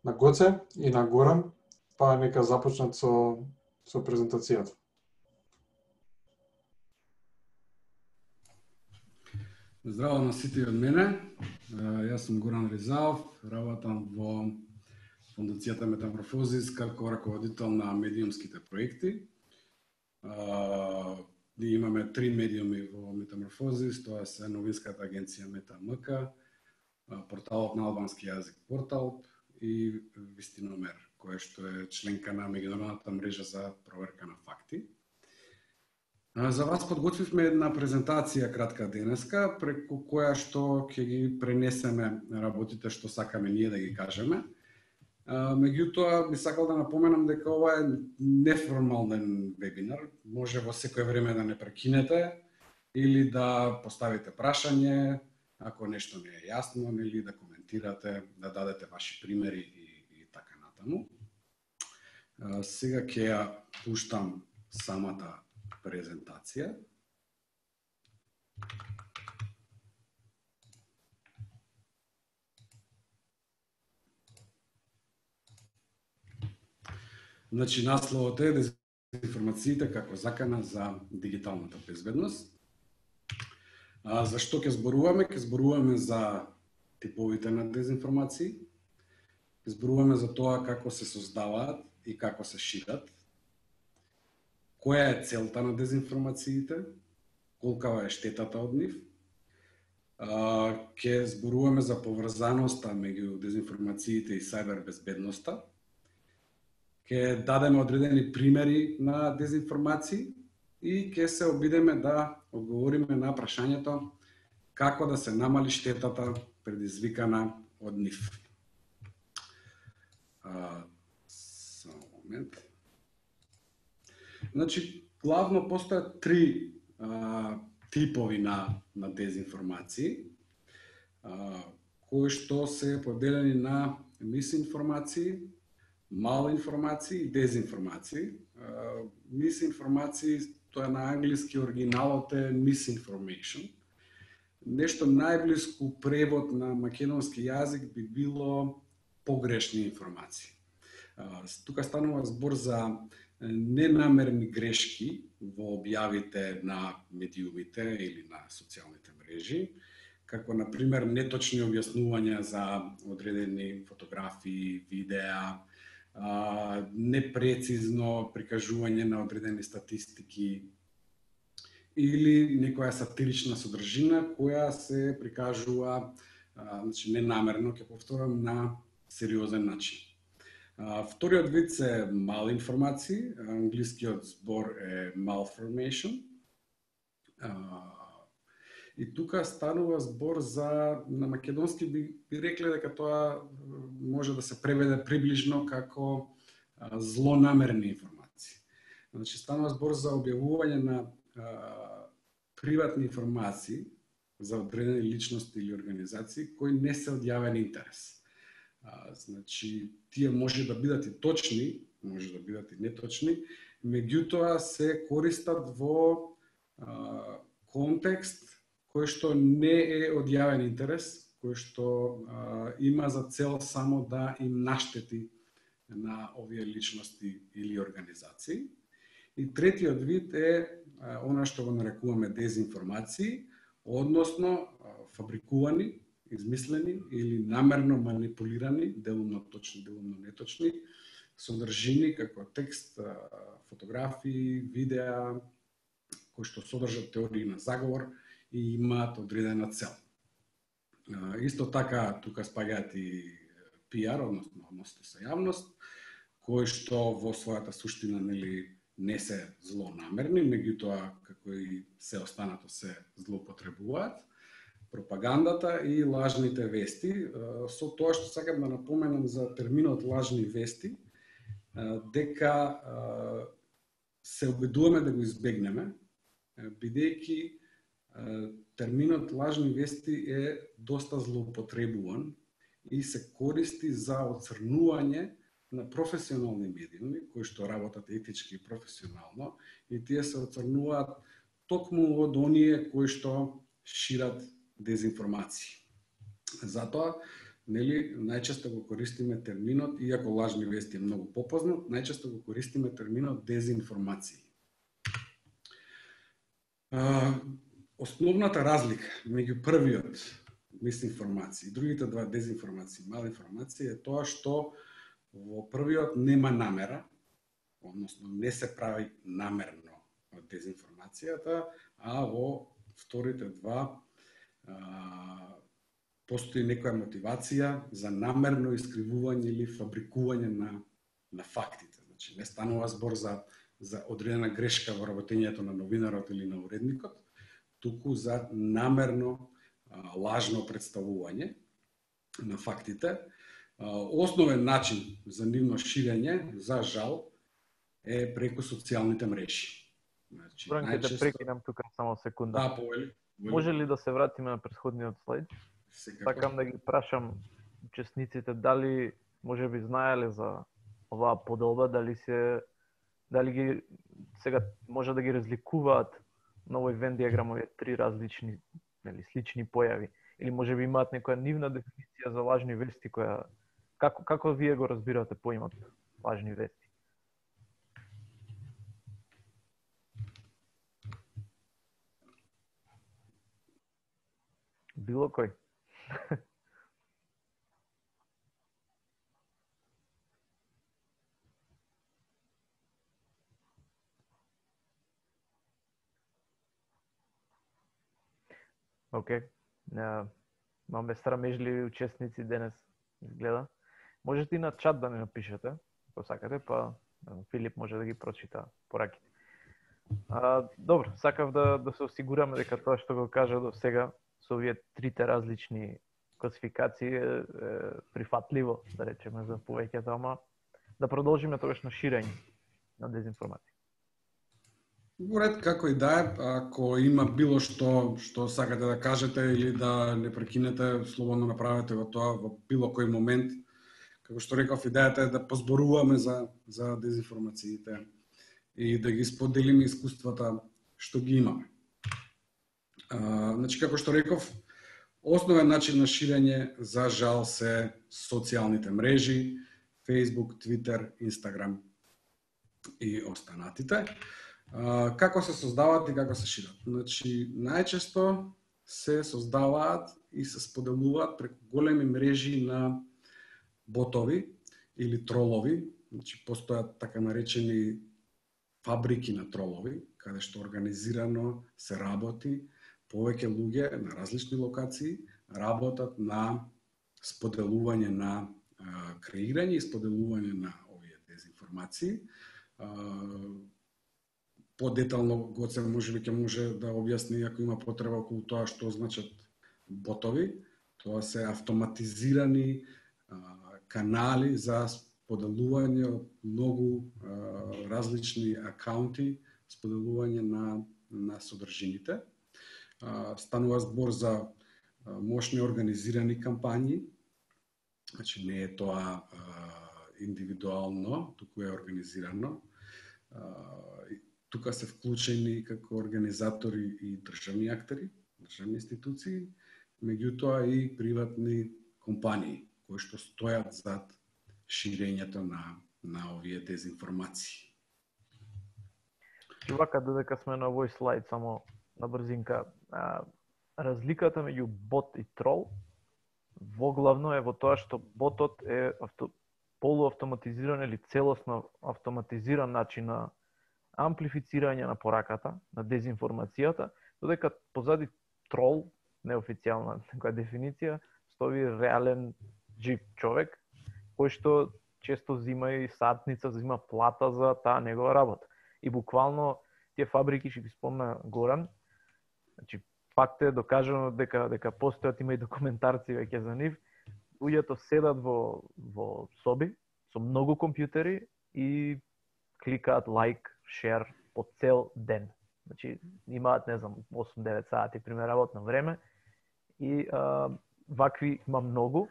на Гоце и на Горан, па нека започнат со презентацијата. Здраво на сите од мене. Јас сум Горан Ризаов, работам во Фондацијата Метаморфозис како раководител на медиумските проекти. Ние имаме 3 медиуми во Метаморфозис, тоа се новинската агенција Метамк, порталот на албански јазик Портал и Вистиномер, кој што е членка на меѓународната мрежа за проверка на факти. За вас подготвивме една презентација кратка денеска, преку која што ќе ги пренесеме работите што сакаме ние да ги кажеме. Меѓутоа, би сакал да напоменам дека ова е неформален вебинар, може во секое време да не прекинете или да поставите прашање, ако нешто не е јасно, или да коментирате, да дадете ваши примери и така натаму. Сега ќе ја пуштам самата презентација. Значи, насловот е дезинформациите како закана за дигиталната безбедност. Зашто ќе зборуваме? Ќе зборуваме за типовите на дезинформации, ќе зборуваме за тоа како се создаваат и како се шират, која е целта на дезинформациите, колкава е штетата од нив, ќе зборуваме за поврзаноста меѓу дезинформациите и сајбер безбедноста, ќе дадеме одредени примери на дезинформации и ќе се обидеме да одговориме на прашањето како да се намали штетата предизвикана од нив. Само момент. Значи, главно постојат 3 типови на дезинформации, кои што се поделени на мисинформации, малинформации и дезинформации. Мисинформации, тоа на англиски оригиналот е misinformation. Нешто најблиску превод на македонски јазик би било погрешни информации. Тука станува збор за ненамерни грешки во објавите на медиумите или на социјалните мрежи, како на пример неточни објаснувања за одредени фотографии, видеа, непрецизно прикажување на одредени статистики или некоја сатирична содржина која се прикажува, значи ненамерно, ќе повторам, на сериозен начин. Вториот вид се малинформации, англискиот збор е malformation. И тука станува збор за, на македонски би рекле дека тоа може да се преведе приближно како злонамерни информации. Значи, станува збор за објавување на приватни информации за одредени личности или организации кои не се од јавен интерес. Значи, тие може да бидат и точни, може да бидат и неточни, меѓутоа се користат во контекст кој што не е од јавен интерес, кој што има за цел само да им наштети на овие личности или организации. И третиот вид е она што го нарекуваме дезинформации, односно фабрикувани, измислени или намерно манипулирани, делумно точни, делумно неточни, содржини како текст, фотографии, видеа, кои што содржат теории на заговор и имаат одредена цел. Исто така, тука спаѓаат и PR, односно односи со јавност, кои што во својата суштина не се злонамерни, меѓутоа како и се останато се злоупотребуваат. Пропагандата и лажните вести. Со тоа што сакам да напоменам за терминот лажни вести, дека се обидуваме да го избегнеме, бидејќи терминот лажни вести е доста злоупотребуван и се користи за оцрнување на професионални медиуми кои што работат етички и професионално, и тие се оцрнуваат токму од оние кои што шират дезинформации. Затоа нели, најчесто го користиме терминот, иако лажни вести е многу попознат, најчесто го користиме терминот дезинформации. Основната разлика меѓу првиот мисинформација и другите два дезинформации, малинформација е тоа што во првиот нема намера, односно не се прави намерно дезинформацијата, а во вторите два постои некоја мотивација за намерно искривување или фабрикување на фактите. Значи, не станува збор за одредена грешка во работењето на новинарот или на уредникот, туку за намерно лажно представување на фактите. Основен начин за нивно ширење, за жал, е преку социјалните мрежи. Значи, ќе те прекинам тука само секунда. Да, повели. Може ли да се вратиме на претходниот слайд? Сакам да ги прашам учесниците дали може би знаеле за оваа поделба, дали ги сега може да ги разликуваат на овој Вен диаграм овие три различни, нели, слични појави, или може би имаат некоја нивна дефиниција за лажни вести која како вие го разбирате поимот лажни вести? Било кој? Океј. Имаме срамежливи учесници денес, изгледа. Можете и на чат да не напишете, ако сакате, па Филип може да ги прочита пораките. Добро, сакав да се осигураме дека тоа што го кажа до сега со овие трите различни класификации е прифатливо, да речеме, за повеќето, ама да продолжиме тогаш на ширење на дезинформација. Во ред, како и да е, ако има било што сакате да кажете или да не прекинете, слободно направете го тоа во било кој момент. Како што реков, идејата е да позборуваме за дезинформациите и да ги споделиме искуствата што ги имаме. Значи, како што реков, основен начин на ширење, за жал, се социјалните мрежи, Facebook, Twitter, Instagram и останатите. Како се создаваат и како се шират? Значи, најчесто се создаваат и се споделуваат преку големи мрежи на ботови или тролови. Значи, постојат така наречени фабрики на тролови, каде што организирано се работи, повеќе луѓе на различни локации работат на споделување на креирање и споделување на овие дезинформации. Подетално Гоце можеби ќе може да објасни ако има потреба околу тоа што значат ботови. Тоа се автоматизирани канали за споделување од многу различни акаунти, споделување на содржините. Станува збор за мощни организирани кампањи. Значи не е тоа индивидуално, туку е организирано. Тука се вклучени како организатори и државни актери, државни институции, меѓутоа и приватни компании кои што стојат зад ширењето на овие дезинформации. Вака, додека сме на овој слайд, само на брзинка, разликата меѓу бот и трол воглавно е во тоа што ботот е полуавтоматизиран или целосно автоматизиран начин на амплифицирање на пораката, на дезинформацијата, додека позади трол, неофицијална некоја дефиниција, стои реален жив човек, кој што често зима и сатница, зима плата за таа негова работа. И буквално тие фабрики, што ги спомна Горан, значи факт е докажано дека постојат, има и документарци веќе за нив, луѓето седат во соби со многу компјутери и кликаат лайк, шер по цел ден. Значи имаат, не знам, 8-9 сати пример работно време и вакви има многу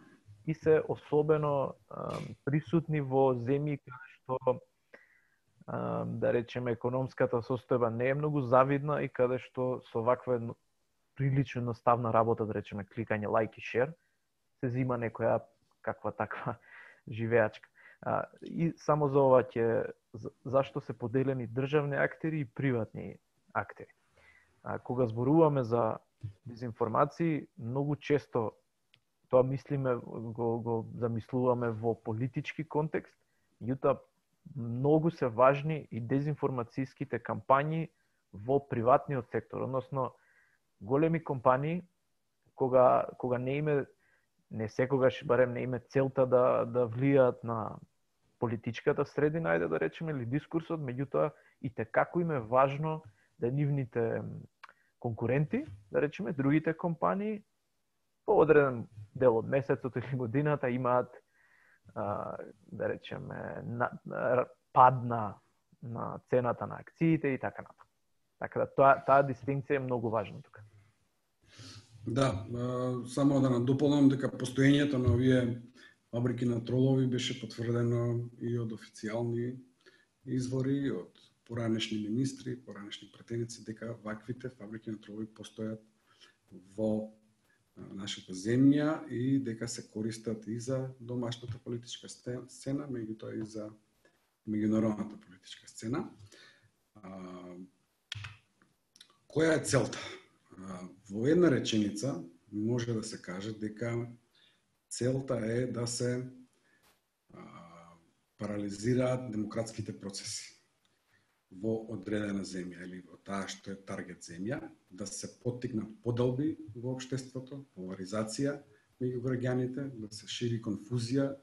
и се особено присутни во земји каде што да речеме економската состојба не е многу завидна и каде што со ваква прилично едноставна работа, да речеме кликање лайк и шер, се зима некоја каква таква живеачка. И само за ова зашто се поделени државни актери и приватни актери. Кога зборуваме за дезинформации, многу често тоа мислиме, го замислуваме во политички контекст, меѓутоа многу се важни и дезинформацијските кампањи во приватниот сектор, односно големи компании кога не секогаш барем не име целта да влијаат на политичката средина, ајде да речеме, или дискурсот, меѓутоа и како им е важно да нивните конкуренти, да речеме, другите компании по одреден дел од месецот или годината имаат да речеме пад на цената на акциите и така натаму. Така да таа дистинкција е многу важна тука. Да, само да надополнам дека постоењето на овие фабрики на тролови беше потврдено и од официјални извори, од поранешни министри, поранешни пратеници, дека ваквите фабрики на тролови постојат во нашата земја и дека се користат и за домашната политичка сцена, меѓутоа и за меѓународната политичка сцена. Која е целта? Во една реченица може да се каже дека целта е да се парализираат демократските процеси во одредена земја или во таа што е таргет земја, да се поттикнат поделби во општеството, поларизација меѓу граѓаните, да се шири конфузија,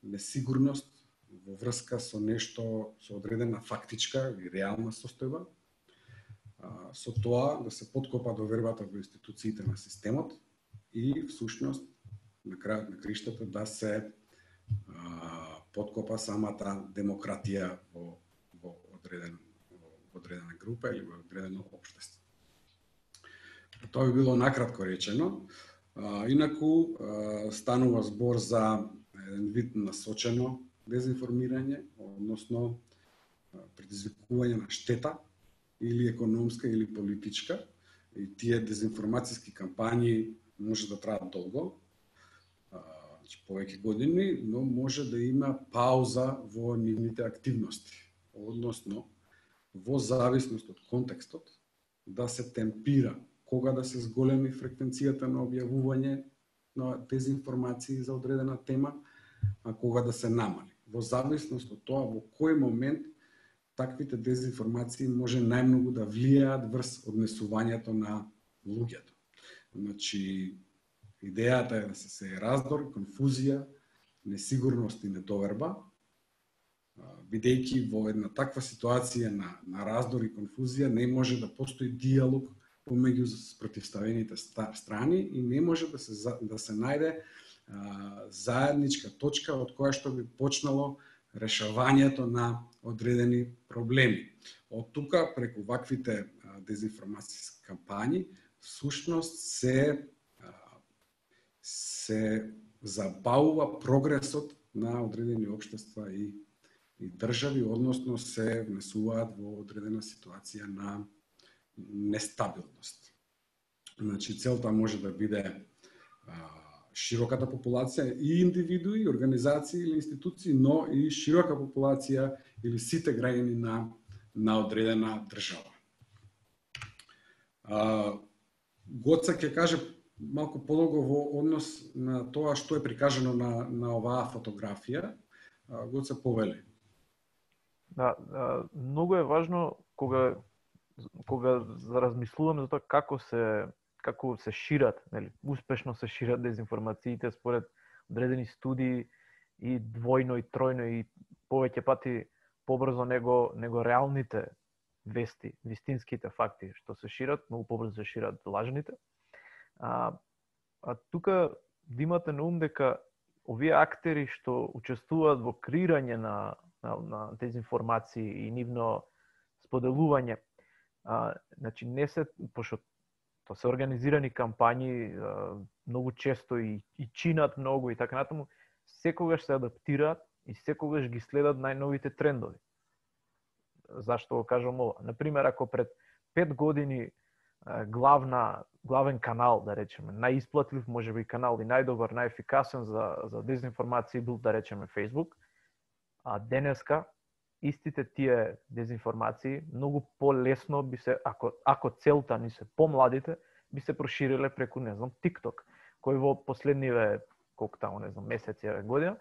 несигурност во врска со нешто, со одредена фактичка или реална состојба, со тоа да се поткопа довербата во институциите на системот и всушност на крајот на криштата да се поткопа самата демократија во одредена група или во одредено општество. Тоа би било накратко речено. Инаку станува збор за еден вид насочено дезинформирање, односно предизвикување на штета или економска или политичка, и тие дезинформацијски кампањи може да траат долго, повеќе години, но може да има пауза во нивните активности, односно во зависност од контекстот да се темпира кога да се зголеми фреквенцијата на објавување на дезинформации за одредена тема, а кога да се намали. Во зависност од тоа во кој момент таквите дезинформации може најмногу да влијаат врз однесувањето на луѓето. Значи, идејата е да се сее раздор, конфузија, несигурност и недоверба, бидејќи во една таква ситуација на раздор и конфузија не може да постои диалог помеѓу спротивставените страни и не може да се најде заедничка точка од која што би почнало решавањето на одредени проблеми. Од тука, преку ваквите дезинформацијски кампањи, всушност се забавува прогресот на одредени општества и држави, односно се внесуваат во одредена ситуација на нестабилност. Значи, целта може да биде широката популација и индивидуи, организации или институции, но и широка популација или сите граѓани на одредена држава. Гоца ќе каже малку подолго во однос на тоа што е прикажано на оваа фотографија. Гоца, повели. Да, многу е важно кога размислуваме за тоа како се шират, нели, успешно се шират дезинформациите според одредени студии и двојно и тројно и повеќе пати побрзо него реалните вести, вистинските факти што се шират, многу побрзо се шират лажните. Тука да имате на ум дека овие актери што учествуваат во креирање на дезинформации и нивно споделување, значи не се, пошто тоа се организирани кампањи, многу често и чинат многу и така натаму, секогаш се адаптираат и секогаш ги следат најновите трендови. Зашто го кажам ова? Например, ако пред 5 години главен канал, да речеме, најисплатлив, можеби канал и најдобар, најефикасен за дезинформации бил, да речеме, Facebook. А денеска истите тие дезинформации многу полесно би се, ако целта ни се помладите, би се прошириле преку, не знам, TikTok, кој во последниве, колку таму, не знам, месеци, година,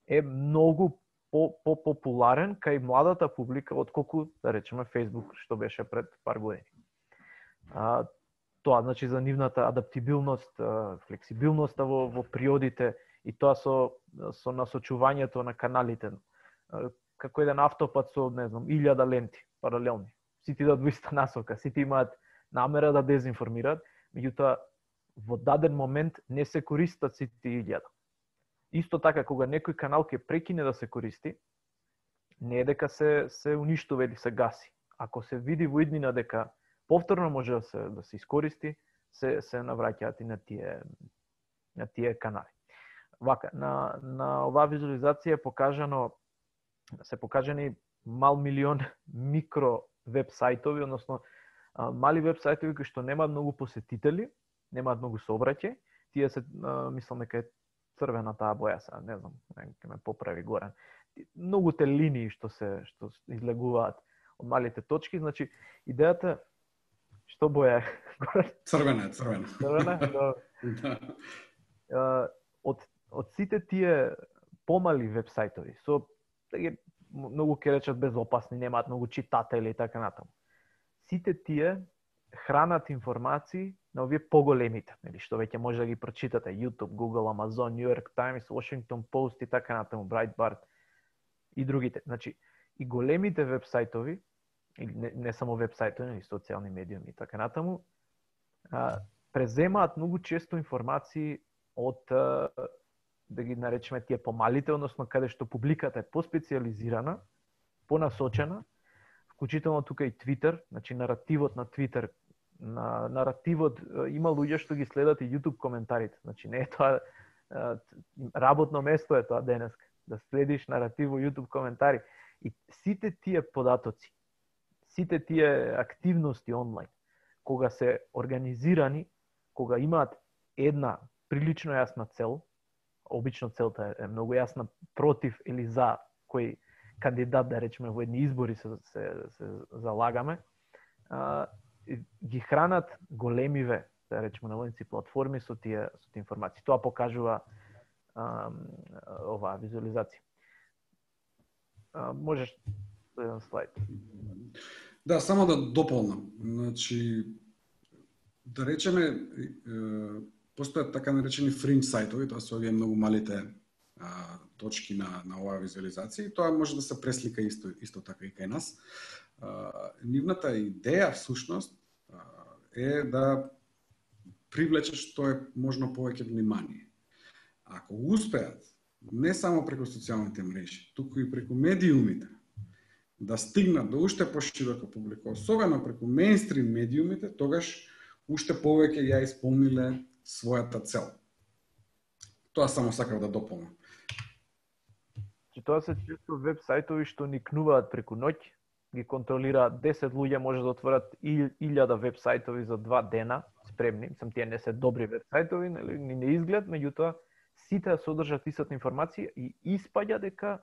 е многу популарен кај младата публика отколку, да речеме, Facebook, што беше пред пар години. Тоа значи за нивната адаптибилност, флексибилноста во приодите и тоа со насочувањето на каналите. Како еден автопат со, не знам, 1000 ленти паралелни. Сите идат во иста насока, сите имаат намера да дезинформираат, меѓутоа во даден момент не се користат сите 1000. Исто така, кога некој канал ќе прекине да се користи, не е дека се уништува или се гаси. Ако се види во иднина дека повторно може да се искористи, се навраќаат и на тие канали. Вака, на оваа визуализација се покажани мал милион микро веб сајтови, односно мали веб сајтови кои што немаат многу посетители, немаат многу сообраќај. Тие се, мислам дека е црвена таа боја, не знам, ќе ме поправи Горан. Многуте линии што излегуваат од малите точки, значи идејата што боја е? Црвена. Црвена? Да. Од сите тие помали веб сајтови, со многу ќе речат безопасни, немаат многу читатели и така натаму. Сите тие хранат информации на овие поголемите, нели, што веќе може да ги прочитате: YouTube, Google, Amazon, New York Times, Washington Post и така натаму, Breitbart и другите. Значи, и големите веб сајтови, или не само веб сајтови, нели, социјални медиуми и така натаму, преземаат многу често информации од, да ги наречеме, тие помалите, односно каде што публиката е поспециализирана, понасочена, вклучително тука и Twitter, значи наративот на Twitter, наративот, има луѓе што ги следат и YouTube коментарите, значи не е тоа работно место е тоа денеска, да следиш наратив во YouTube коментари. И сите тие податоци, сите тие активности онлайн, кога се организирани, кога имаат една прилично јасна цел, обично целта е многу јасна, против или за кој кандидат, да речеме, во едни избори се залагаме, ги хранат големиве, да речеме, наводници платформи со тие информации. Тоа покажува оваа визуализација. Можеш еден слайд. Да, само да дополнам. Значи, да речеме, постојат така наречени фринџ сајтови, тоа се овие многу малите точки на оваа визуализација, и тоа може да се преслика исто така и кај нас. Нивната идеја всушност е да привлече што е можно повеќе внимание. Ако успеат не само преку социјалните мрежи, туку и преку медиумите да стигнат до уште поширока публика, особено преку мејнстрим медиумите, тогаш уште повеќе ја исполниле својата цел. Тоа само сакав да дополнам. Тоа се често веб сајтови што никнуваат преку ноќ, ги контролираат 10 луѓе, може да отворат 1000 веб сајтови за 2 дена, спремни. Мислам, тие не се добри веб сајтови, ни не изглед, меѓутоа сите содржат истата информација и испаѓа дека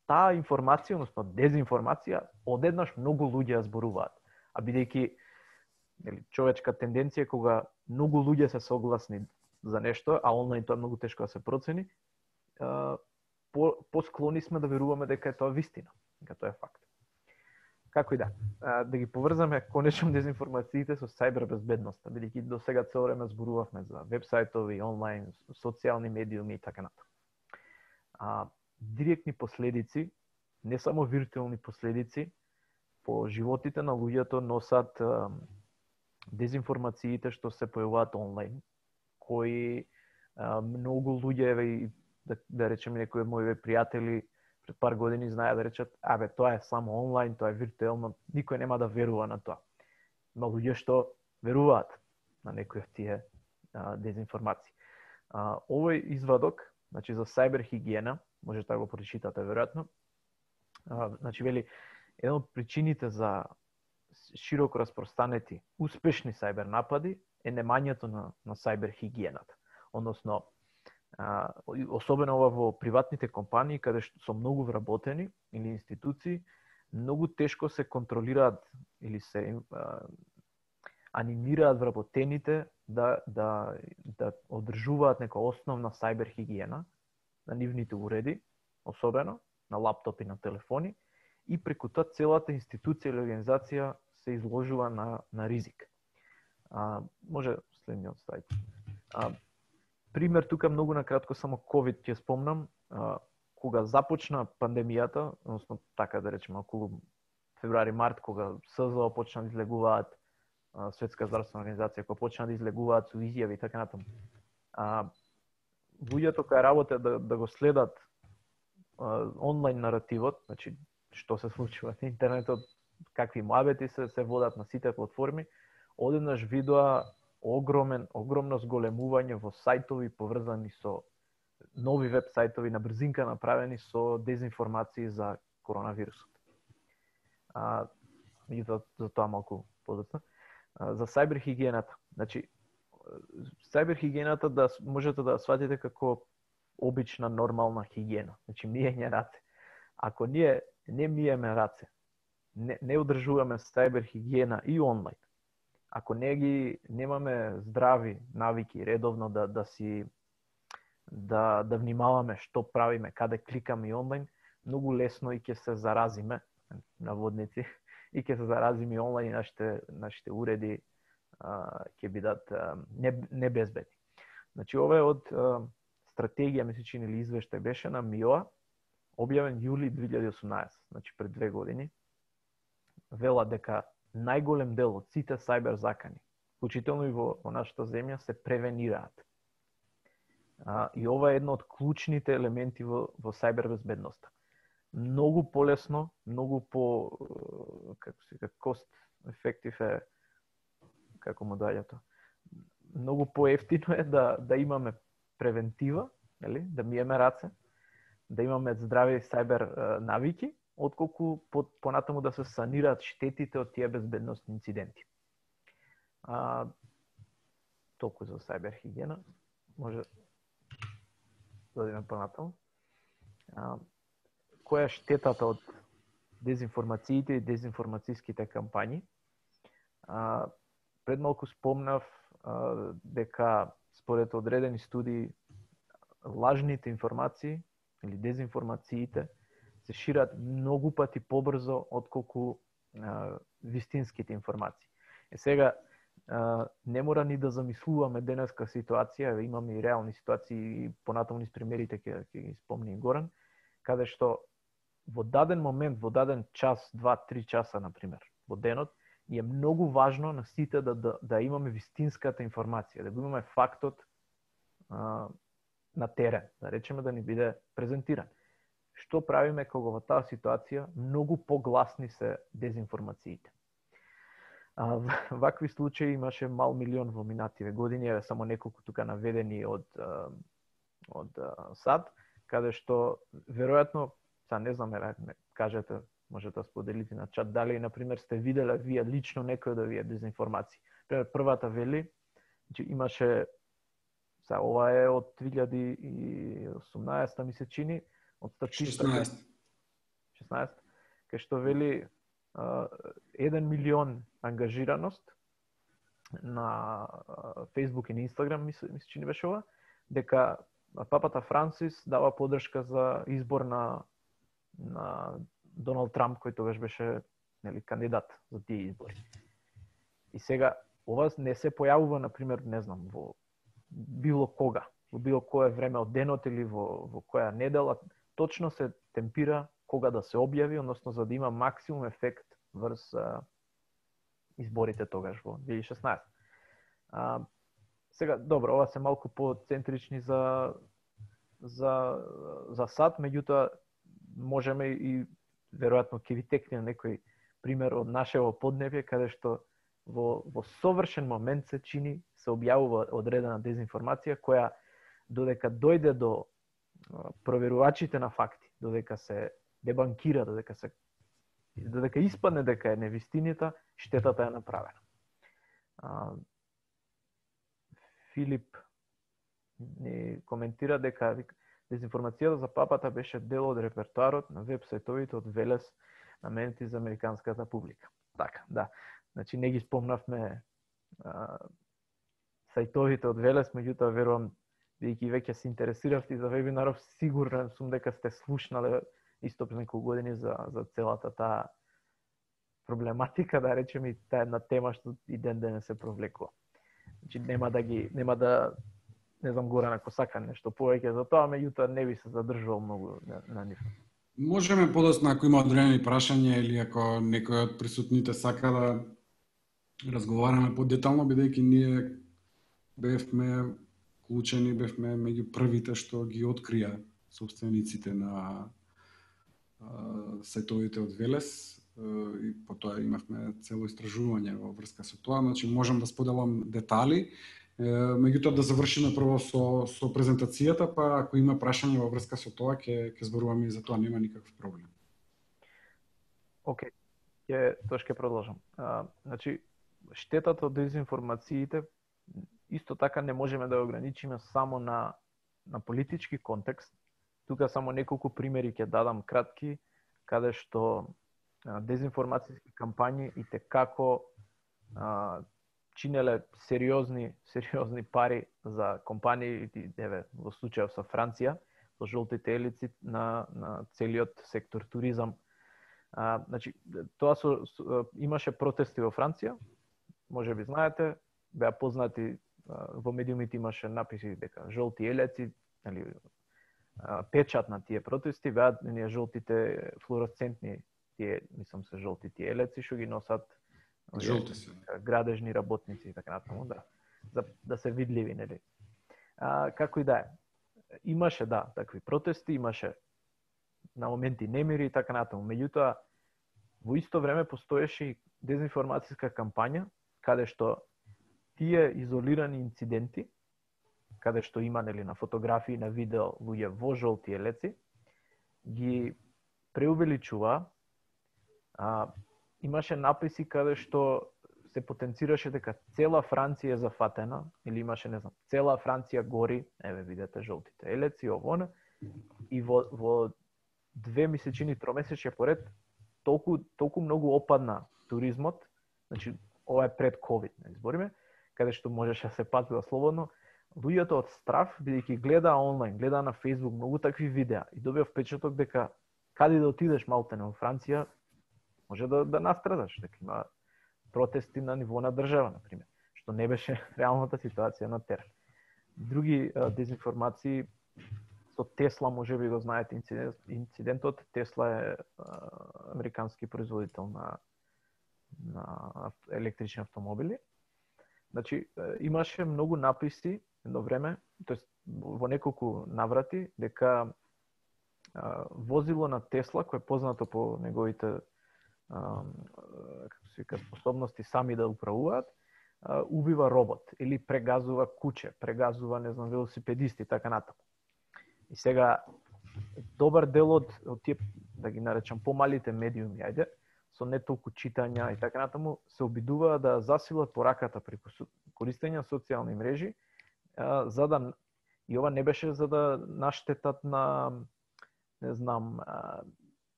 таа информација, односно дезинформација, одеднаш многу луѓе ја зборуваат. А бидејќи човечка тенденција кога многу луѓе се согласни за нешто, а онлайн тоа е многу тешко да се процени, посклони сме да веруваме дека е тоа вистина, дека тоа е факт. Како и да ги поврзаме конечно дезинформациите со сајбербезбедноста, бидејќи до сега цело време зборувавме за веб-сајтови, онлайн, социјални медиуми и така натаму. Директни последици, не само виртуелни последици, по животите на луѓето носат дезинформациите што се појавуваат онлайн, кои многу луѓе, да речеме некои мои пријатели пред пар години знаеа да речат: абе, тоа е само онлайн, тоа е виртуелно, никој нема да верува на тоа. Има луѓе што веруваат на некои од тие дезинформации. Овој извадок, значи за сајберхигиена, можете да го прочитате веројатно. Значи вели, една од причините за широко распространети успешни сајбер напади е немањето на сајбер хигиената. Односно, особено во приватните компании, каде што со многу вработени или институции, многу тешко се контролираат или се анимираат вработените да одржуваат нека основна сајбер хигиена на нивните уреди, особено на лаптопи, на телефони, и преку тоа целата институција или организација се изложува на ризик. Може следниот слайд. Пример тука многу накратко само COVID ќе спомнам. Кога започна пандемијата, односно така да речеме околу февруари-март, кога СЗО почна да излегуваат, Светска здравствена организација кога почна да излегуваат со изјави и така натаму. Луѓето кои работат да го следат онлайн наративот, значи што се случува на интернетот, какви муабети се водат на сите платформи, одеднаш видоа огромно зголемување во сајтови поврзани со нови веб сајтови на брзинка направени со дезинформации за коронавирусот. И за тоа малку подоцна. За сајбер хигиената. Значи, сајбер хигиената можете да сватите како обична нормална хигиена. Значи, миење раце. Ако ние не миеме раце, не одржуваме сајбер хигиена и онлайн, ако немаме здрави навики редовно да внимаваме што правиме, каде кликаме и онлайн, многу лесно и ќе се заразиме, наводници, и ќе се заразиме и онлайн, и нашите уреди ќе бидат небезбедни. Значи, ова е од стратегија, ми се чини, или извештај беше на МИОА, објавен јули 2018, значи пред 2 години, вела дека најголем дел од сите сајбер закани, вклучително и во нашата земја, се превенираат. И ова е едно од клучните елементи во сајбер безбедноста. Многу полесно, многу по cost effective е, како му даѓа тоа. Многу поевтино е да имаме превентива, нели, да миеме раце, да имаме здрави сајбер навики, отколку понатаму да се санираат штетите од тие безбедносни инциденти. Толку за сајбер хигиена. Може да одиме понатаму. Која е штетата од дезинформациите и дезинформацијските кампањи? Пред малку спомнав дека според одредени студии лажните информации или дезинформациите се шират многу пати побрзо отколку вистинските информации. Сега не мора ни да замислуваме денеска ситуација, имаме и реални ситуации, и понатаму низ примерите ќе ги спомни Горан, каде што во даден момент, во даден час, 2-3 часа, например, во денот, е многу важно на сите да имаме вистинската информација, да го имаме фактот на терен, да речеме да ни биде презентиран. Што правиме кога во таа ситуација многу погласни се дезинформациите? Вакви случаи имаше мал милион во минативе години, само неколку тука наведени од САД, каде што веројатно, не знам, кажете, можете да споделите на чат, дали, например, сте виделе вие лично некој да вие дезинформации. Например, првата вели, имаше, ова е од 2018, ми се чини, од статистика 16, кај што вели 1 милион ангажираност на Facebook и на Instagram, ми се чини беше ова, дека папата Франсис дава поддршка за избор на Доналд Трамп, кој тогаш беше, нели, кандидат за тие избори. И сега, ова не се појавува, например, не знам, во било кога, во било кое време од денот или во која недела, точно се темпира кога да се објави, односно за да има максимум ефект врз изборите тогаш во 2016. Сега, добро, ова се малку по-центрични за САД, меѓутоа можеме и веројатно ќе ви текне некој пример од нашево поднебје, каде што во совршен момент се чини, се објавува одредена дезинформација која додека дојде до проверувачите на факти, додека се дебанкира, додека се додека испадне дека е невистинита, штетата е направена. Филип ни коментира дека дезинформацијата за папата беше дел од репертуарот на веб-сајтовите од Велес наменети за американската публика. Така, да. Значи не ги спомнавме сајтовите од Велес, меѓутоа верувам бидејќи веќе се интересиравте за вебинаров, сигурен сум дека сте слушнале исто пред неколку години за целата таа проблематика, да речеме, и таа една тема што и ден денес се провлекува. Значи нема да не знам Горан ако сака нешто повеќе за тоа, меѓутоа не би се задржувал многу на нив. Можеме подоцна ако има одредени прашања или ако некој од присутните сака да разговараме подетално, бидејќи ние бевме клучени, бевме меѓу првите што ги открија собствениците на сајтовите од Велес и потоа имавме цело истражување во врска со тоа, значи можам да споделам детали. Меѓутоа да завршиме прво со презентацијата, па ако има прашање во врска со тоа, ќе зборуваме и за тоа, нема никаков проблем. Океј, тоа ќе продолжам. Значи, штетата од дезинформациите исто така не можеме да ограничиме само на политички контекст. Тука само неколку примери ќе дадам кратки, каде што дезинформацијски кампањи и како чинеле сериозни пари за компании, еве во случајот со Франција, со жолтите елици на целиот сектор туризам. Значи, тоа имаше протести во Франција, можеби знаете, беа познати во медиумите, имаше написи дека жолти елеци, или печат на тие протести беа ние жолтите флуоресцентни, тие мислам се жолти тие елеци што ги носат градежни работници и така натаму, да се видливи, нели. Како и да е. Имаше такви протести, имаше на моменти немири и така натаму. Меѓутоа во исто време постоеше и дезинформацијска кампања каде што тие изолирани инциденти, каде што има нели на фотографии, на видео луѓе во жолти елеци, ги преувеличува. Имаше написи каде што се потенцираше дека цела Франција е зафатена, или имаше, не знам, цела Франција гори, еве видете жолтите елеци, ово, и во 2 месечини, 3 месечја поред, толку многу опадна туризмот, значи ова е пред ковид, не збориме, каде што можеше да се патува слободно, луѓето од страв, бидејќи гледа онлайн, гледа на Facebook многу такви видеа и добија впечаток дека каде да отидеш малтене во Франција, може да настрадаш, дека има протести на ниво на држава, например, што не беше реалната ситуација на терен. Други дезинформации со Тесла, може би го знаете инцидентот. Тесла е американски производител на електрични автомобили. Значи, имаше многу написи едно време, тоест во неколку наврати, дека возило на Тесла, кој е познато по неговите како се вика, способности сами да управуваат, убива робот или прегазува куче, прегазува, не знам, велосипедисти, така натаму. И сега добар дел од тие, да ги наречам, помалите медиуми, ајде, со не толку читања и така натаму, се обидуваат да засилат пораката преку користење на социјални мрежи, за да, и ова не беше за да наштетат на, не знам,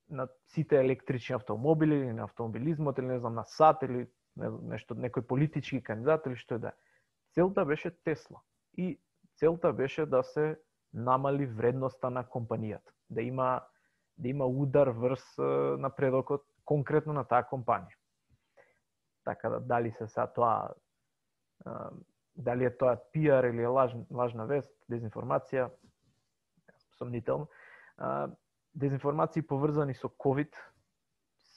на сите електрични автомобили или на автомобилизмот или не знам на САД или нешто, некој политички кандидат или што е да. Целта беше Тесла и целта беше да се намали вредноста на компанијата, да има удар врз напредокот конкретно на таа компанија. Така да дали се са тоа, дали е тоа пиар или е лажна вест, дезинформација, сомнително. Дезинформации поврзани со COVID,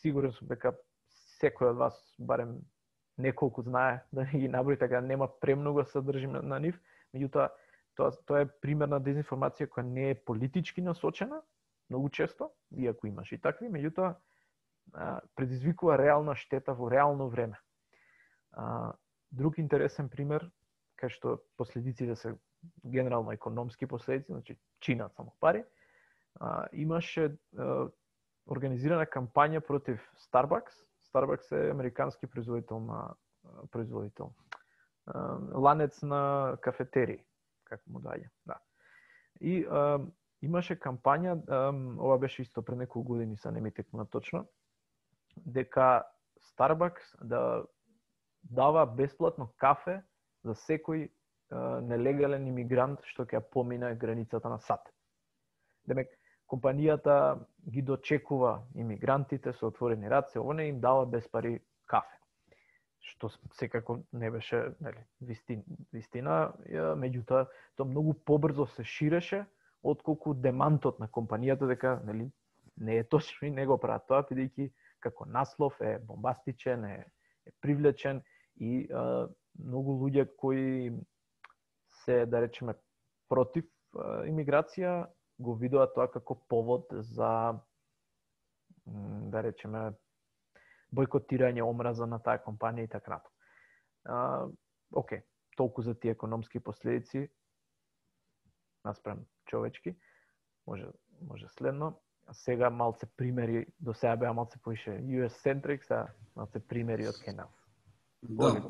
сигурен сум дека секој од вас барем неколку знае, да не ги наброи, така нема премногу содржина на нив, меѓутоа тоа е пример на дезинформација која не е политички насочена, многу често, иако имаш и такви, меѓутоа предизвикува реална штета во реално време. Друг интересен пример, кај што последиците се генерално економски последици, значи чинат само пари, имаше организирана кампања против Starbucks. Starbucks е американски производител. Ланец на кафетерии, како му даја. Да. И имаше кампања, ова беше исто пред неколку години, са не ми текна точно, дека Starbucks да дава бесплатно кафе за секој нелегален имигрант што ќе помине границата на САД. Демек, компанијата ги дочекува имигрантите со отворени раце, оне им дава без пари кафе. Што секако не беше, нели, вистина, меѓутоа тоа многу побрзо се ширеше отколку демантот на компанијата дека, нели, не е точно и не го прават тоа, бидејќи како наслов е бомбастичен, е привлечен и многу луѓе кои се, да речеме, против имиграција, го видуваат тоа како повод за, да речеме, бойкотирање, омраза на таа компанија и така натаму. Океј, толку за тие економски последици наспрем човечки. Може следно. Сега малце примери, до сега беа малце поише US-centric, сега малце примери од кај нас. Да,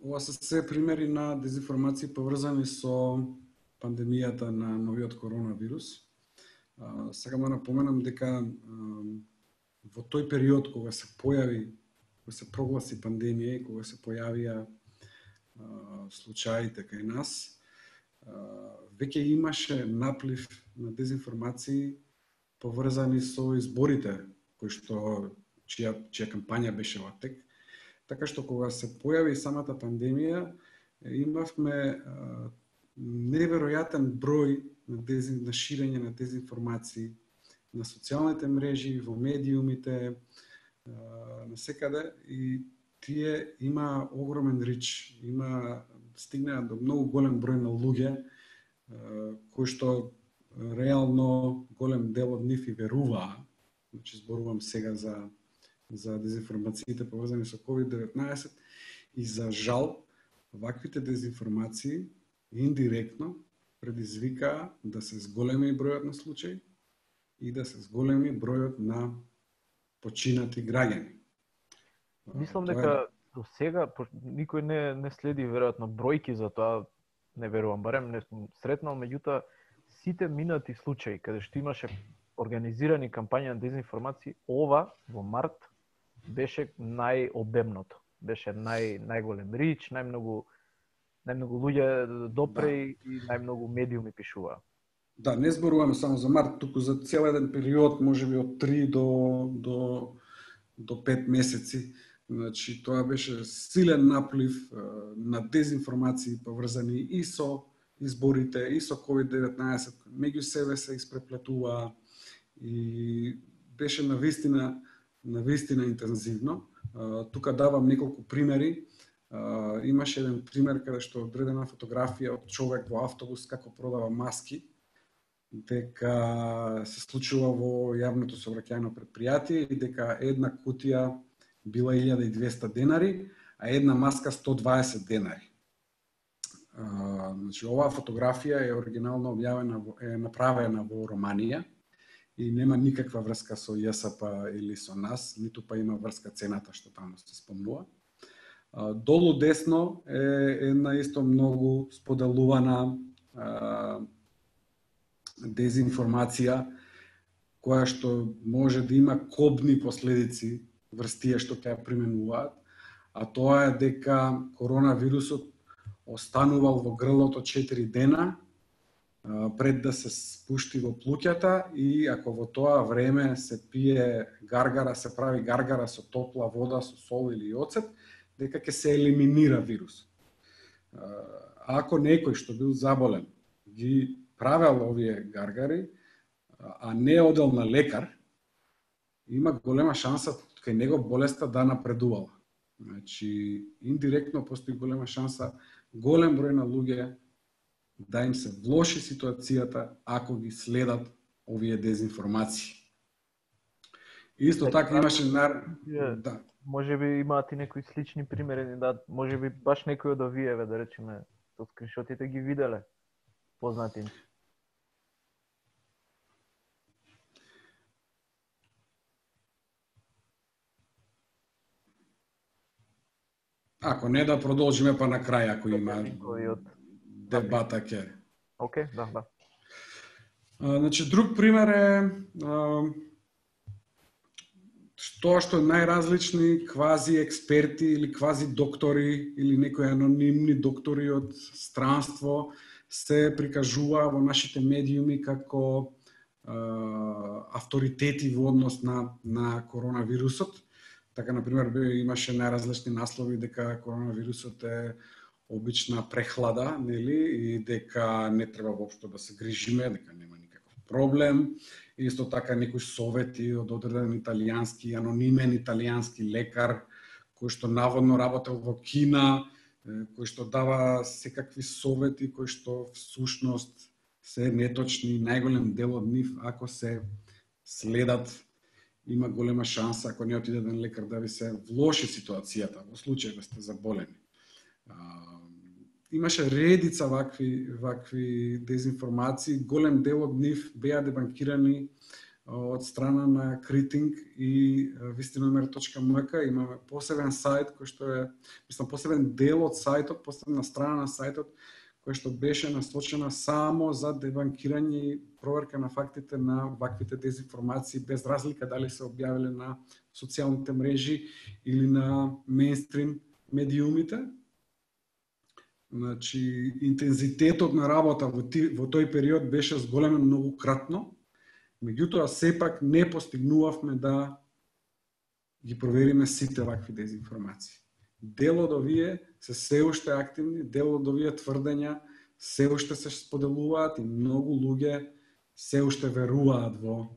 ова се се примери на дезинформации поврзани со пандемијата на новиот коронавирус. Сакам да напоменам дека во тој период кога се појави, кога се прогласи пандемија и кога се појавија случаите кај нас, веќе имаше наплив на дезинформации поврзани со изборите чија кампања беше во тек. Така што кога се појави самата пандемија, имавме неверојатен број на ширење на дезинформации на социјалните мрежи, во медиумите, насекаде, и тие има огромен рич, стигнаа до многу голем број на луѓе кои што реално голем дел од нив и веруваа. Значи зборувам сега за дезинформациите поврзани со COVID-19 и за жал ваквите дезинформации индиректно предизвикаа да се зголеми бројот на случаи и да се зголеми бројот на починати граѓани. Мислам дека до сега никој не следи веројатно бројки за тоа, не верувам, барем не сум сретнал, меѓутоа сите минати случаи каде што имаше организирани кампања на дезинформации, ова во март беше најобемното. Беше најголем рич, најмногу луѓе допре и најмногу медиуми пишуваа. Да, не зборуваме само за март, туку за цел еден период, можеби од 3 до 5 месеци. Значи, тоа беше силен наплив на дезинформации поврзани и со изборите, и со COVID-19, меѓу себе се испреплетуваа и беше навистина интензивно. Тука давам неколку примери. Имаше еден пример каде што одредена фотографија од човек во автобус како продава маски, дека се случува во јавното сообраќајно предпријатие и дека една кутија била 1200 денари, а една маска 120 денари. Значи, оваа фотографија е оригинално објавена, е направена во Романија и нема никаква врска со ЈСП или со нас, ниту па има врска цената што таму се спомнува. Долу десно е една исто многу споделувана дезинформација која што може да има кобни последици врз тие што ќе ја применуваат, а тоа е дека коронавирусот останувал во грлото 4 дена пред да се спушти во плуќата и ако во тоа време се пие гаргара, се прави гаргара со топла вода, со сол или оцет, дека ќе се елиминира вирус. Ако некој што бил заболен ги правел овие гаргари, а не одел на лекар, има голема шанса кај него болеста да напредувала. Значи, индиректно постои голема шанса голем број на луѓе да им се влоши ситуацијата ако ги следат овие дезинформации. Исто така имаше да. Може би имаат и некои слични примери, да, може би баш некој од овие, да речеме, од скриншотите ги виделе познати. Ако не да продолжиме па на крај, ако има Линкови од дебата ќе. Океј, да. Значи, друг пример е тоа што најразлични квази експерти или квази доктори или некои анонимни доктори од странство се прикажува во нашите медиуми како авторитети во однос на коронавирусот. Така, например, имаше најразлични наслови дека коронавирусот е обична прехлада, нели, и дека не треба воопшто да се грижиме, дека нема никаков проблем. Исто така некои совети од одреден италијански, анонимен италијански лекар, кој што наводно работел во Кина, кој што дава секакви совети, кои што всушност се неточни, најголем дел од нив, ако се следат, има голема шанса, ако не отиде еден лекар, да ви се влоши ситуацијата, во случај да сте заболени. Имаше редица вакви дезинформации, голем дел од нив беа дебанкирани од страна на Критинг и Вистиномер.мк. Имаме посебен сајт кој што е, посебен дел од сајтот, посебна страна на сајтот која што беше насочена само за дебанкирање и проверка на фактите на ваквите дезинформации, без разлика дали се објавиле на социјалните мрежи или на мејнстрим медиумите. Значи, интензитетот на работа во тој период беше зголемен многократно, меѓутоа сепак не постигнувавме да ги провериме сите вакви дезинформации. Дел од овие се уште активни, дел од овие тврдења се уште се споделуваат и многу луѓе се уште веруваат во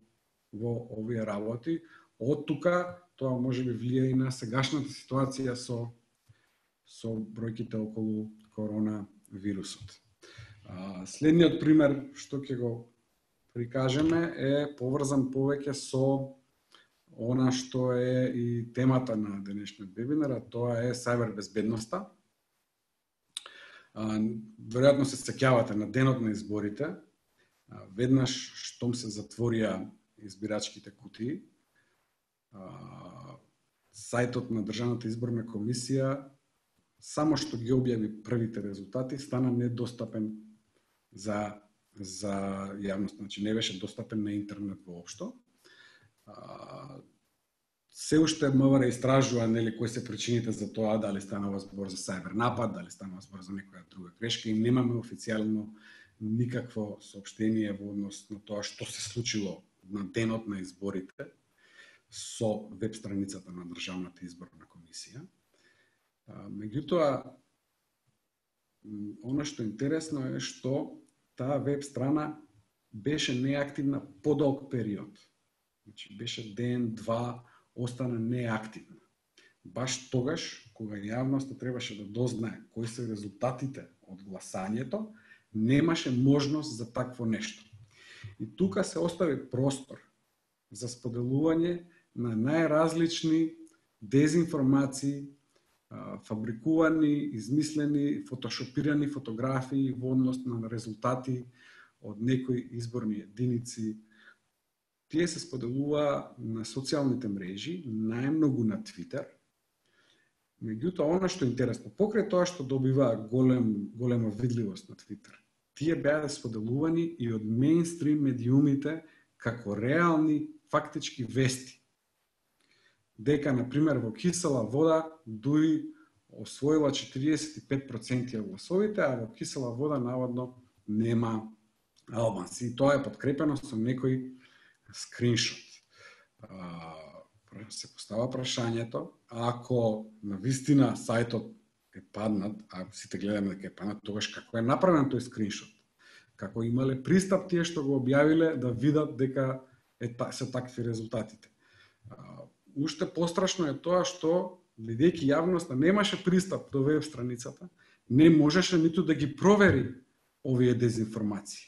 овие работи. Од тука тоа можеби влијае и на сегашната ситуација со бројките околу коронавирусот. Следниот пример што ќе го прикажеме е поврзан повеќе со она што е и темата на денешниот вебинар, а тоа е сајбербезбедноста. Веројатно се сеќавате на денот на изборите, веднаш штом се затворија избирачките кутии, сајтот на Државната изборна комисија само што ги објави првите резултати стана недостапен за јавност, значи не беше достапен на интернет воопшто. Се уште МВР истражува нели кои се причините за тоа, дали станува збор за сајбер напад, дали станува збор за некоја друга грешка, и немаме официјално никакво соопштение во однос на тоа што се случило на денот на изборите со веб страницата на Државната изборна комисија. Меѓутоа, она што е интересно е што таа веб страна беше неактивна подолг период. Значи, беше ден, два, остана неактивна. Баш тогаш, кога јавноста требаше да дознае кои се резултатите од гласањето, немаше можност за такво нешто. И тука се остави простор за споделување на најразлични дезинформации, фабрикувани, измислени, фотошопирани фотографии во однос на резултати од некои изборни единици. Тие се споделува на социјалните мрежи, најмногу на Твитер. Меѓутоа, она што е интересно, покрај тоа што добива голема видливост на Твитер, тие беа споделувани и од мејнстрим медиумите како реални фактички вести. Дека, например, во кисела вода дури освоила 45% од гласовите, а во кисела вода наводно нема албанци. И тоа е подкрепено со некој скриншот. Се постава прашањето, ако на вистина сајтот е паднат, а сите гледаме дека е паднат, тогаш како е направен тој скриншот? Како имале пристап тие што го објавиле да видат дека се такви резултатите? Уште пострашно е тоа што, бидејќи јавноста немаше пристап до веб страницата, не можеше ниту да ги провери овие дезинформации.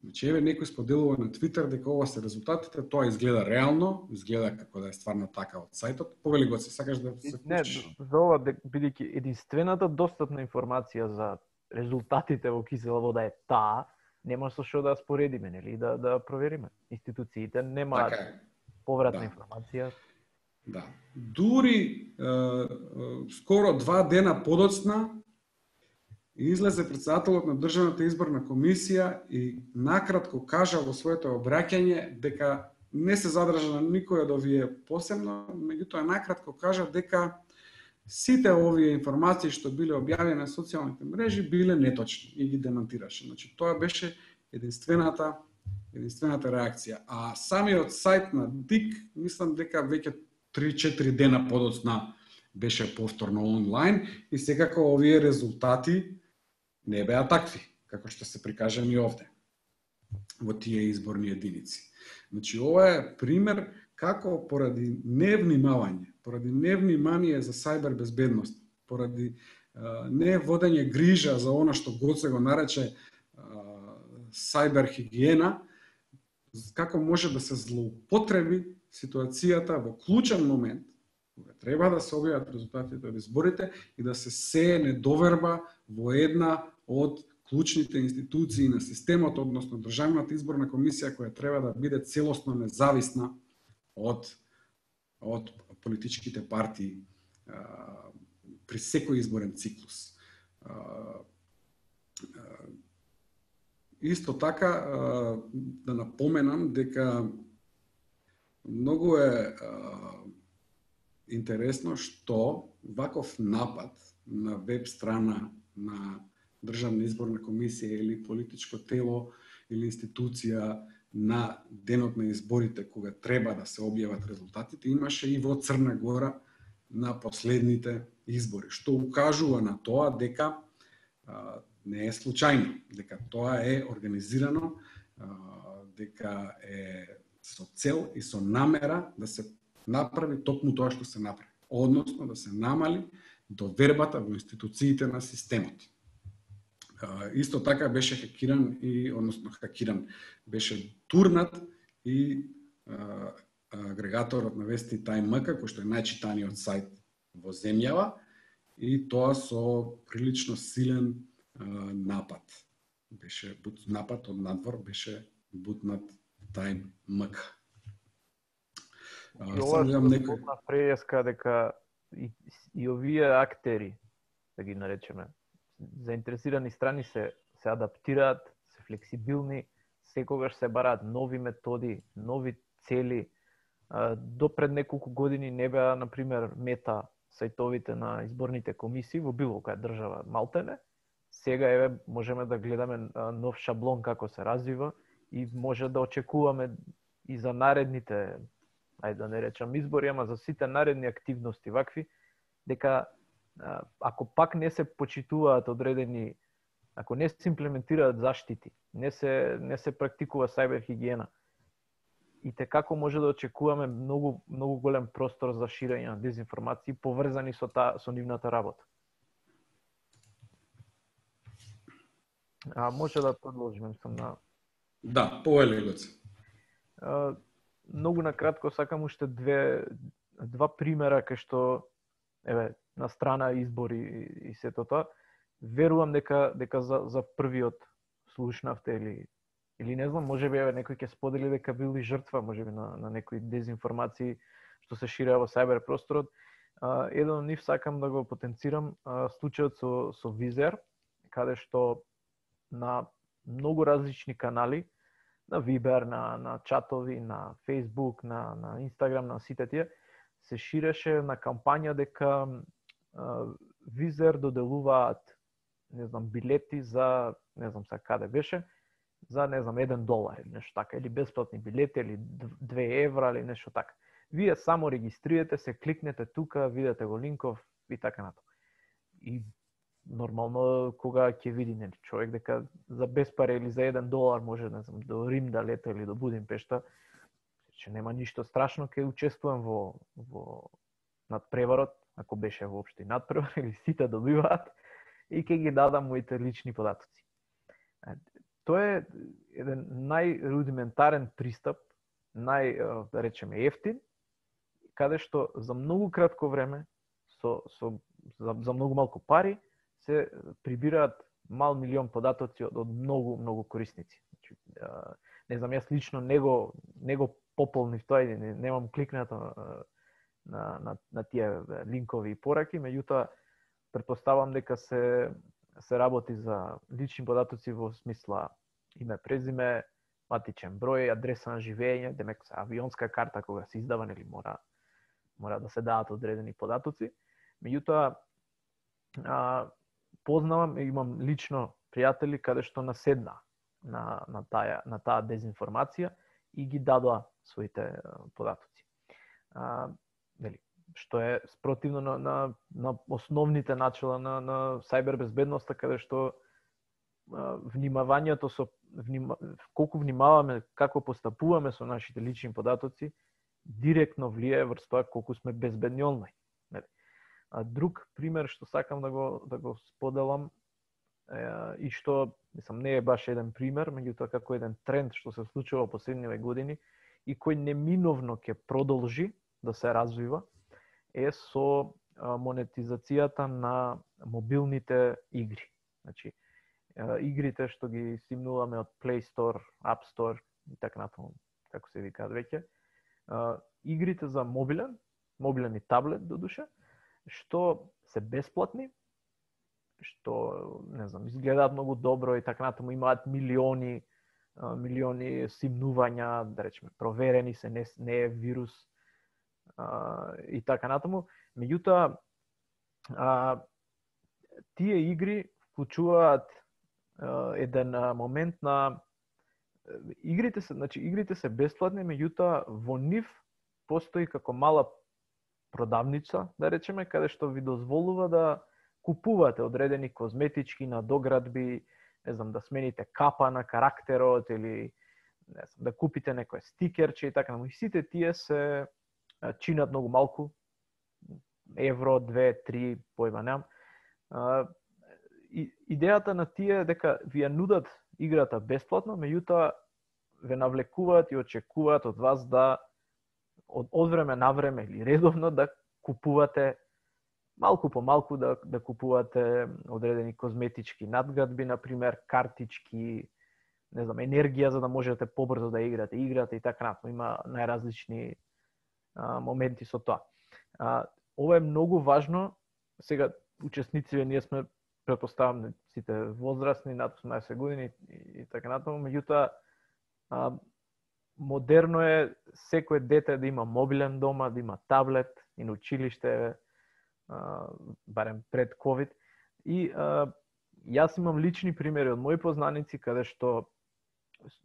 Значи, еве некој споделува на Твитер дека ова се резултатите, тоа изгледа реално, изгледа како да е стварно така од сајтот. Повели го, се сакаш да се вклучиш? Не, за ова, бидејќи единствената достапна информација за резултатите во кисела вода е таа, нема со што да споредиме, нели, да провериме. Институциите немаат повратна информација. Да. Дури скоро 2 дена подоцна излезе председателот на Државната изборна комисија и накратко кажа во своето обраќање дека не се задржа на никој од овие посебно, меѓутоа накратко кажа дека сите овие информации што биле објавени на социјалните мрежи биле неточни и ги демантираше. Значи тоа беше единствената реакција. А самиот сајт на ДИК, мислам дека веќе 3-4 дена подоцна беше повторно онлайн и секако овие резултати не беа такви, како што се прикажани овде во тие изборни единици. Значи ова е пример како поради невнимавање, поради невнимание за сајбер безбедност, поради не водење грижа за она што Гоце го нарече сајбер хигиена, како може да се злоупотреби ситуацијата во клучен момент, кога треба да се објават резултатите од изборите и да се сее недоверба во една од клучните институции на системот, односно Државната изборна комисија, која треба да биде целосно независна од политичките партии при секој изборен циклус. Исто така, да напоменам дека многу е интересно што ваков напад на веб страна на Државна изборна комисија или политичко тело или институција на денот на изборите, кога треба да се објават резултатите, имаше и во Црна Гора на последните избори, што укажува на тоа дека не е случајно, дека тоа е организирано, дека е со цел и со намера да се направи токму тоа што се направи, односно да се намали довербата во институциите на системот. Исто така беше беше турнат и агрегаторот на вести Time.mk, кој што е најчитаниот сајт во земјава, и тоа со прилично силен напад. Беше напад од надвор, беше бутнат Time.mk. Ова што преска дека и овие актери, да ги наречеме, заинтересирани страни се адаптираат, се флексибилни, секогаш се бараат нови методи, нови цели. До пред неколку години не беа, например, мета сајтовите на изборните комисии во било која држава малтене. Сега можеме да гледаме нов шаблон како се развива и може да очекуваме и за наредните, ајде да не речам избори, ама за сите наредни активности вакви, дека ако пак не се почитуваат одредени, ако не се имплементираат заштити, не се практикува сајбер хигиена, и како може да очекуваме многу голем простор за ширење на дезинформации поврзани со нивната работа. Може да продолжиме на... Да, повели Гоце. Многу накратко сакам уште два примера кај што на страна избори и сето тоа. Верувам дека за првиот слушнавте или не знам, можеби некој ќе сподели дека бил и жртва, можеби на некои дезинформации што се ширеа во сајбер просторот. Еден од нив сакам да го потенцирам, случајот со Визер, каде што на многу различни канали, на Viber, на чатови, на Facebook, на Instagram, на сите тие, се ширеше на кампања дека Визер доделуваат, не знам, билети за, не знам сега каде беше, за, не знам, $1 или нешто така, или бесплатни билети, или 2 евра, или нешто така. Вие само регистрирате се, кликнете тука, видите го линков и така натаму. И нормално кога ќе види човек дека за без пари или за $1 може, не знам, до Рим да лета или до Будимпешта, че нема ништо страшно, ќе учествувам во надпреварот, ако беше воопшто и надпревар, или сите добиваат, и ќе ги дадам моите лични податоци. Тоа е еден најрудиментарен пристап, да речеме ефтин, каде што за многу кратко време, за многу малку пари, се прибираат мал милион податоци од многу корисници. Не знам, јас лично не го пополнив тоа и немам кликнато на тие линкови и пораки, меѓутоа претпоставам дека се работи за лични податоци во смисла име, презиме, матичен број, адреса на живење, демек авионска карта кога се издава, нели мора да се дадат одредени податоци. Меѓутоа познавам, имам лично пријатели каде што наседна на таа дезинформација и ги дадоа своите податоци. Нели, што е спротивно на основните начала на сајбер безбедноста, каде што внимавањето колку внимаваме како постапуваме со нашите лични податоци, директно влијае врз тоа колку сме безбедни онлайн. Друг пример што сакам да го споделам и што не е баш еден пример, меѓутоа како еден тренд што се случува во последниве години и кој неминовно ќе продолжи да се развива, е со монетизацијата на мобилните игри. Значи, игрите што ги стимнуваме од Play Store, App Store и така натаму, како се викаат веќе, игрите за мобилен и таблет додуше, што се бесплатни, што изгледаат многу добро и така натаму, имаат милиони стимнувања, да речеме, проверени се, не е вирус и така натаму. Меѓутоа, тие игри вклучуваат еден момент на игрите се бесплатни, меѓутоа во нив постои како мала продавница, да речеме, каде што ви дозволува да купувате одредени козметички надоградби, да смените капа на карактерот или да купите некое стикерче и така натаму. И сите тие се чинат многу малку, евро, 2, 3, појма немам. Идејата на тие е дека ви ја нудат играта бесплатно, меѓутоа ве навлекуваат и очекуваат од вас да од време на време или редовно да купувате малку по малку, да купувате одредени козметички надградби, например, картички, енергија за да можете побрзо да играте играта и така натаму. Има најразлични моменти со тоа. Ова е многу важно. Сега учесниците ние сме, претпоставам, сите возрастни над 18 години и така натаму, меѓутоа модерно е секој дете да има мобилен дома, да има таблет и на училиште, барем пред COVID. И јас имам лични примери од мои познаници каде што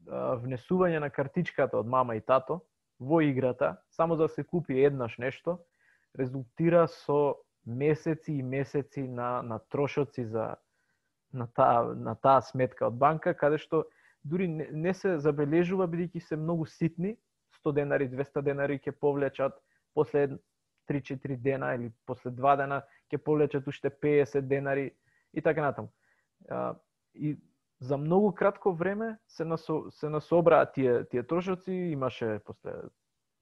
внесување на картичката од мама и тато во играта, само за да се купи еднаш нешто, резултира со месеци и месеци на трошоци на таа сметка од банка, каде што дури не се забележува, бидејќи се многу ситни, 100 денари, 200 денари ќе повлечат, после 3-4 дена или после 2 дена ќе повлечат уште 50 денари и така натаму. И за многу кратко време се насобраат тие трошоци, имаше после,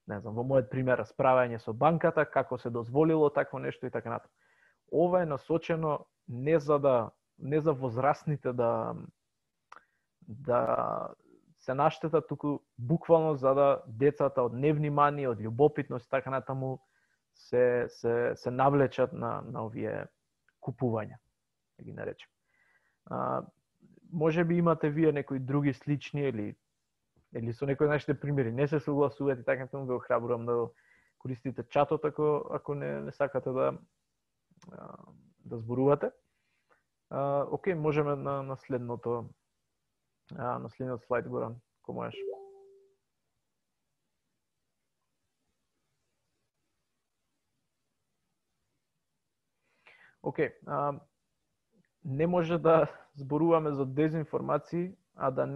во мојот пример, расправање со банката, како се дозволило такво нешто и така натаму. Ова е насочено не за возрастните да се наштета, туку буквално за да децата од невнимание, од љубопитност и така натаму се навлечат на овие купувања, да ги наречем. Може би имате вие некои други слични или со некои нашите примери не се согласувате, така натаму ве охрабрувам да користите чатот ако не сакате да зборувате. Океј, можеме на следниот слайд, Горан, ако можеш. Океј, не може да зборуваме за дезинформации, а да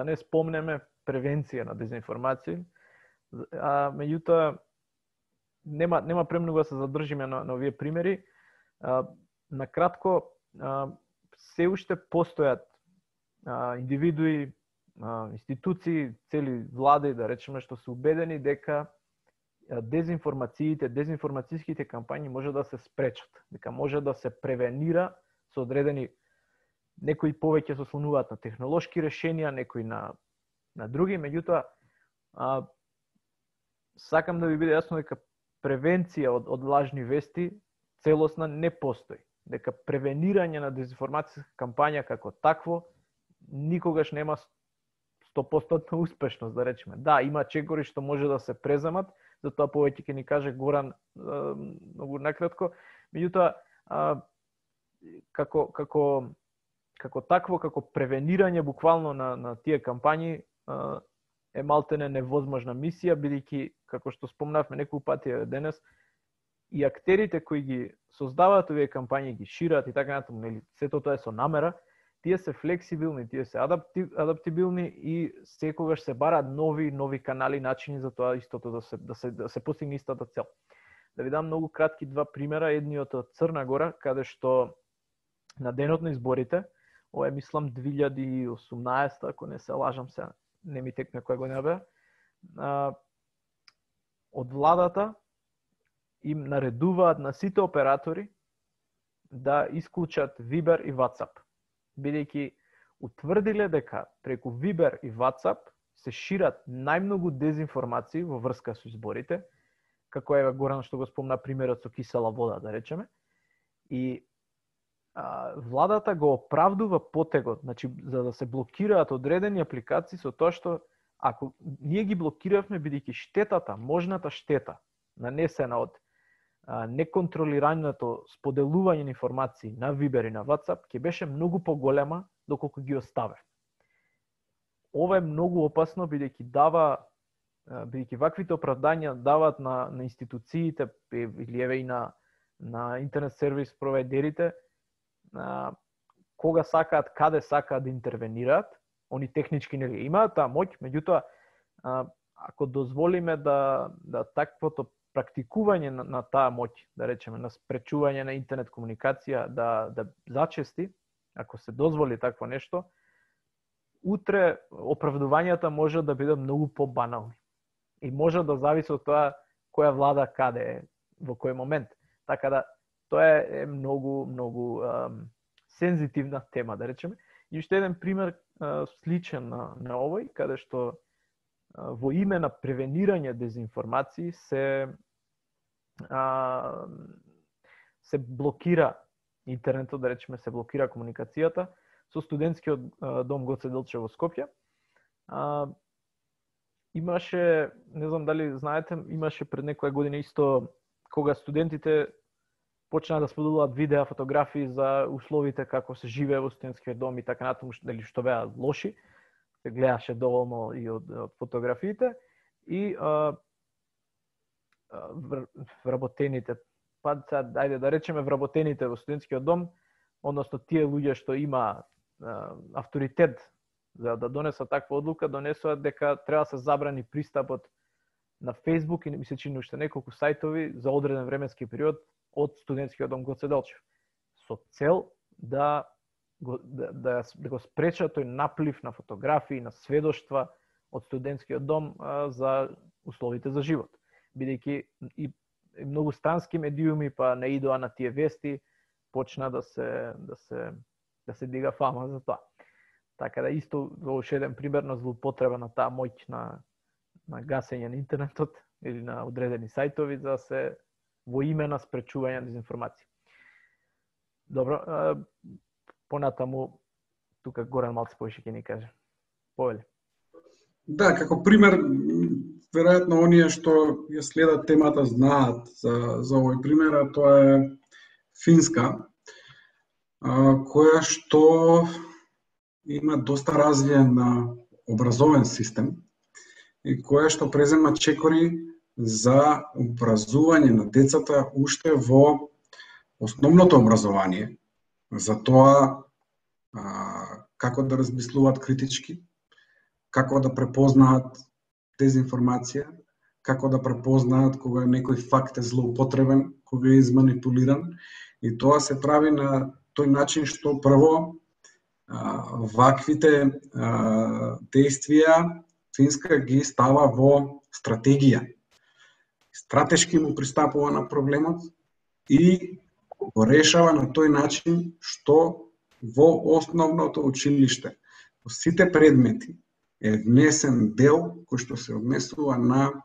не спомнеме превенција на дезинформации. Меѓутоа, нема премногу да се задржиме на овие примери. Накратко, се уште постојат индивидуи, институции, цели влади, да речеме, што се убедени дека дезинформацијските кампањи може да се спречат, дека може да се превенира со одредени, некои повеќе се ослонуваат на технолошки решенија, некои на други, меѓутоа сакам да ви биде јасно дека превенција од лажни вести целосна не постои. Дека превенирање на дезинформацијска кампања како такво никогаш нема 100% успешност, да речеме. Да, има чекори што може да се преземат, затоа повеќе ќе ни каже Горан многу накратко. Меѓутоа, како такво, како превенирање буквално на тие кампањи е малтене невозможна мисија, бидејќи, како што спомнавме неколку пати денес, и актерите кои ги создаваат овие кампањи, ги шират и така натаму, нели, сето тоа е со намера, тие се флексибилни, тие се адаптибилни и секогаш се бараат нови канали, начини за тоа истото да се постигне истата цел. Да ви дам многу кратки два примера, едниот од Црна Гора, каде што на денот на изборите, ова е мислам 2018, ако не се лажам се, не ми текне која година бе, од владата им наредуваат на сите оператори да исклучат Viber и WhatsApp, бидејќи утврдиле дека преку Viber и WhatsApp се шират најмногу дезинформации во врска со изборите, како е Горан што го спомна примерот со кисела вода, да речеме, и владата го оправдува потегот, значи за да се блокираат одредени апликации со тоа што ако ние ги блокиравме бидејќи штетата, можната штета нанесена од неконтролираното споделување на информации на Viber и на WhatsApp ќе беше многу поголема доколку ги оставе. Ова е многу опасно бидејќи ваквите оправдања даваат на институциите или еве и на интернет сервис провайдерите кога сакаат, каде сакаат да интервенираат, они технички нели имаат таа моќ, меѓутоа ако дозволиме да таквото практикување на таа моќ, да речеме, на спречување на интернет комуникација да зачести, ако се дозволи такво нешто, утре оправдувањата може да бидат многу побанални. И може да зависи од тоа која влада каде е, во кој момент. Така да, тоа е многу сензитивна тема, да речеме. И уште еден пример сличен на овој, каде што во име на превенирање дезинформации се блокира интернетот, да речеме, се блокира комуникацијата со студентскиот дом Гоце Делчев во Скопје. Имаше, не знам дали знаете, имаше пред некоја година исто кога студентите почнаа да споделуваат видеа, фотографии за условите како се живее во студентскиот дом и така натаму, дали што беа лоши. Се гледаше доволно и од фотографиите и вработените, ајде да речеме вработените во студентскиот дом, односно тие луѓе што има авторитет за да донесат таква одлука, донесуваат дека треба да се забрани пристапот на Facebook и ми се чини уште неколку сајтови за одреден временски период од студентскиот дом Гоце Делчев, со цел да го спреча тој наплив на фотографии, на сведоштва од студентскиот дом за условите за живот. Бидејќи и многу странски медиуми па наидоа на тие вести, почна да се дига фама за тоа. Така да исто уште еден пример на злоупотреба на таа моќ на гасење на интернетот или на одредени сајтови за се во име на спречување на дезинформација. Добро, понатаму тука Горан малце повеќе ќе ни каже. Повели. Да, како пример, веројатно оние што ја следат темата знаат за овој пример, а тоа е Финска, која што има доста развиен образовен систем и која што презема чекори за образување на децата уште во основното образование, за тоа како да размислуваат критички, како да препознаат дезинформација, како да препознаат кога некој факт е злоупотребен, кога е изманипулиран, и тоа се прави на тој начин што прво ваквите действија Финска ги става во стратегија. Стратешки му пристапува на проблемот и го решава на тој начин што во основното училиште, во сите предмети е внесен дел кој што се однесува на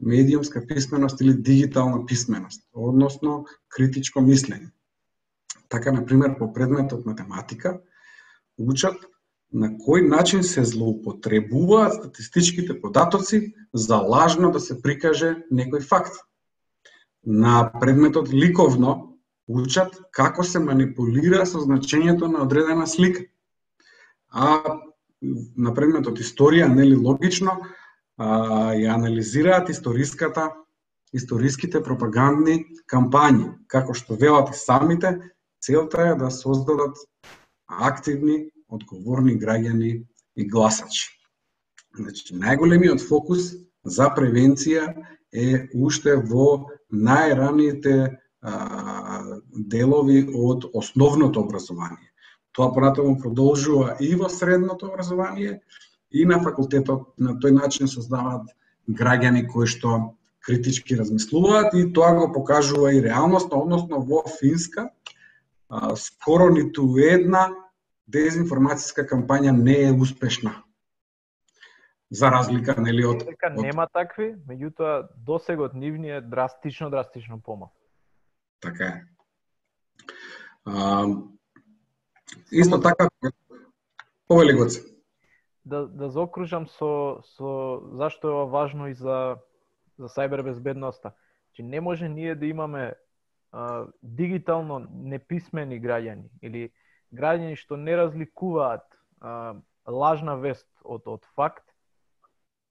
медиумска писменост или дигитална писменост, односно критичко мислење. Така, например, по предметот математика, учат на кој начин се злоупотребуваат статистичките податоци за лажно да се прикаже некој факт. На предметот ликовно учат како се манипулира со значењето на одредена слика. А на предметот историја, нели логично, ја анализираат историските пропагандни кампањи, како што велат и самите, целта е да создадат активни, одговорни граѓани и гласачи. Значи, најголемиот фокус за превенција е уште во најраните делови од основното образование. Тоа понатаму продолжува и во средното образование, и на факултетот. На тој начин создаваат граѓани кои што критички размислуваат, и тоа го покажува и реалноста, односно во Финска скоро ниту една дезинформацијска кампања не е успешна. За разлика, нели, од нема такви, меѓутоа досегот нивни е драстично помал. Така е. Исто така, повели Гоце. Да заокружам со зашто е ова важно и за сајбер безбедноста. Че не може ние да имаме дигитално неписмени граѓани или граѓани што не разликуваат лажна вест од факт,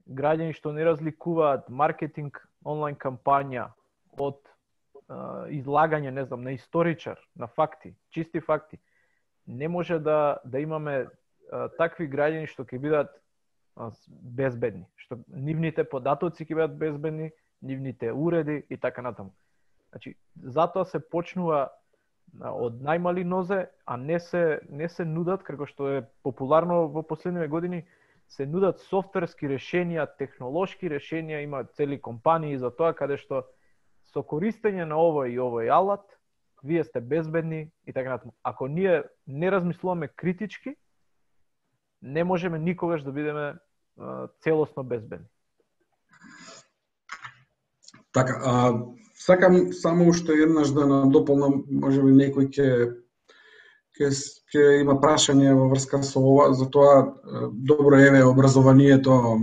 граѓани што не разликуваат маркетинг онлайн кампања од излагање, не знам, на историчар, на факти, чисти факти. Не може да имаме такви граѓани што ќе бидат безбедни, што нивните податоци ќе бидат безбедни, нивните уреди и така натаму. Значи, затоа се почнува од најмали нозе, а не се нудат, како што е популарно во последниве години, се нудат софтверски решенија, технолошки решенија, има цели компании за тоа, каде што со користење на овој и овој алат, вие сте безбедни и така натаму. Ако ние не размислуваме критички, не можеме никогаш да бидеме целосно безбедни. Така, сакам само уште еднаш да надополнам, можеби некој ќе има прашање во врска со ова, затоа добро еве образованието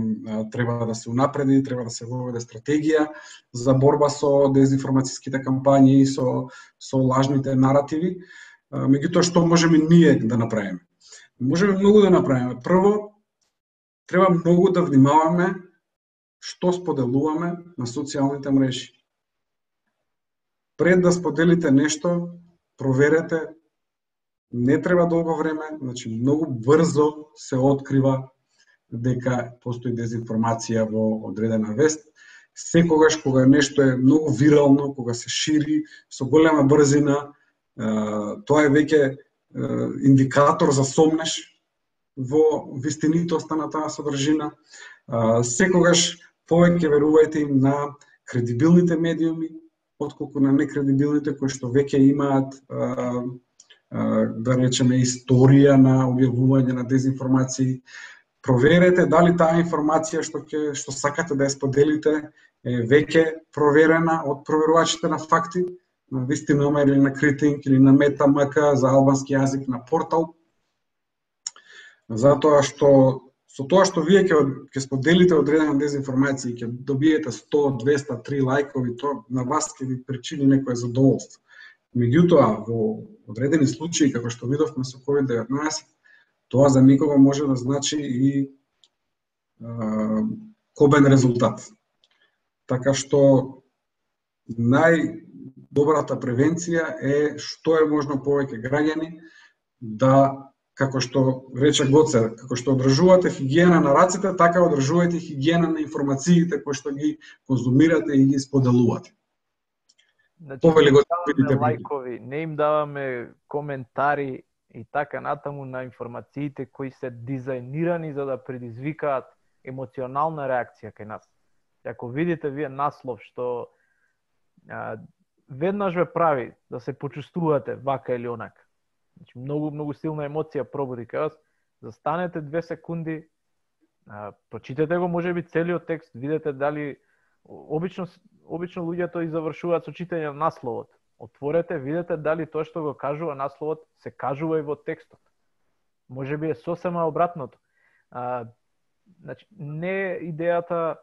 треба да се унапреди, треба да се воведе стратегија за борба со дезинформацијските кампањи и со лажните наративи. Меѓутоа, што можеме ние да направиме? Можеме многу да направиме. Прво, треба многу да внимаваме што споделуваме на социјалните мрежи. Пред да споделите нешто, проверете. Не треба долго време, значи многу брзо се открива дека постои дезинформација во одредена вест. Секогаш кога нешто е многу вирално, кога се шири со голема брзина, тоа е веќе индикатор за сомнеш во вистинитоста на таа содржина. Секогаш повеќе верувајте им на кредибилните медиуми, отколку на некредибилните кои што веќе имаат да речеме историја на објавување на дезинформации. Проверете дали таа информација што сакате да ја споделите е веќе проверена од проверувачите на факти, на Вистиномер или на Критинг или на Метамк за албански јазик на портал. Затоа што со тоа што вие ќе споделите одредена дезинформација и ќе добиете 100, 200, 3 лајкови, тоа на вас ќе ви причини некое задоволство. Меѓутоа, во одредени случаи, како што видовме со COVID-19, тоа за никого може да значи и кобен резултат. Така што најдобрата превенција е што е можно повеќе граѓани да, како што рече Гоце, како што одржувате хигиена на раците, така одржувајте хигиена на информациите кои што ги конзумирате и ги споделувате. Значи, не даваме лајкови, не им даваме коментари и така натаму на информациите кои се дизајнирани за да предизвикаат емоционална реакција кај нас. Ако видите вие наслов што веднаш ве прави да се почувствувате вака или онака, значи многу силна емоција пробуди кај вас, застанете 2 секунди, прочитете го можеби целиот текст, видете дали обично луѓето и завршуваат со читање на насловот. Отворете, видете дали тоа што го кажува насловот се кажува и во текстот. Можеби е сосема обратното. Значи, не идејата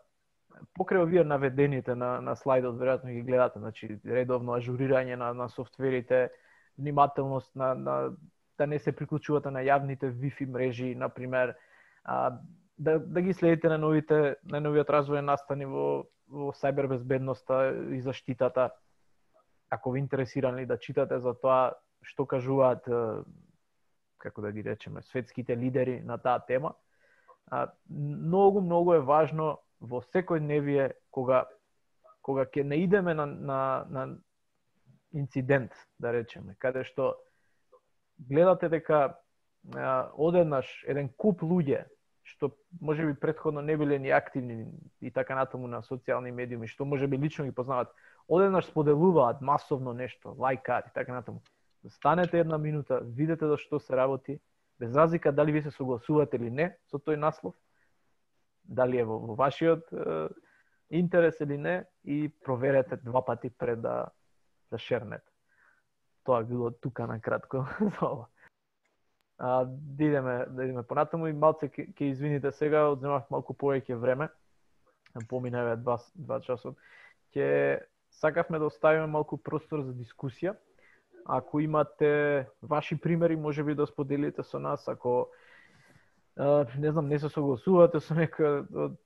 покрај овие наведените на слайдот, веројатно ги гледате, значи редовно ажурирање на софтверите, внимателност да не се приклучувате на јавните Wi-Fi мрежи, например, да ги следите на новиот развој настани во сајбер безбедноста и заштитата. Ако ви интересирани да читате за тоа што кажуваат, како да ги речеме, светските лидери на таа тема, многу е важно во секојдневие кога ќе наидеме на инцидент, да речеме, каде што гледате дека одеднаш еден куп луѓе што можеби претходно не биле ни активни и така натаму на социјални медиуми, што можеби лично ги познаваат, одеднаш споделуваат масовно нешто, лајкаат и така натаму. Станете една минута, видете за што се работи, без разлика дали ви се согласувате или не со тој наслов, дали е во вашиот интерес или не, и проверете 2 пати пред да шернете. Тоа било тука на кратко за ова. Да идеме понатаму и малце ќе извините сега, одземав малку повеќе време. Помина еве 2 часот. Ќе сакавме да оставиме малку простор за дискусија. Ако имате ваши примери, можеби да споделите со нас, ако не знам, не се согласувате со некој од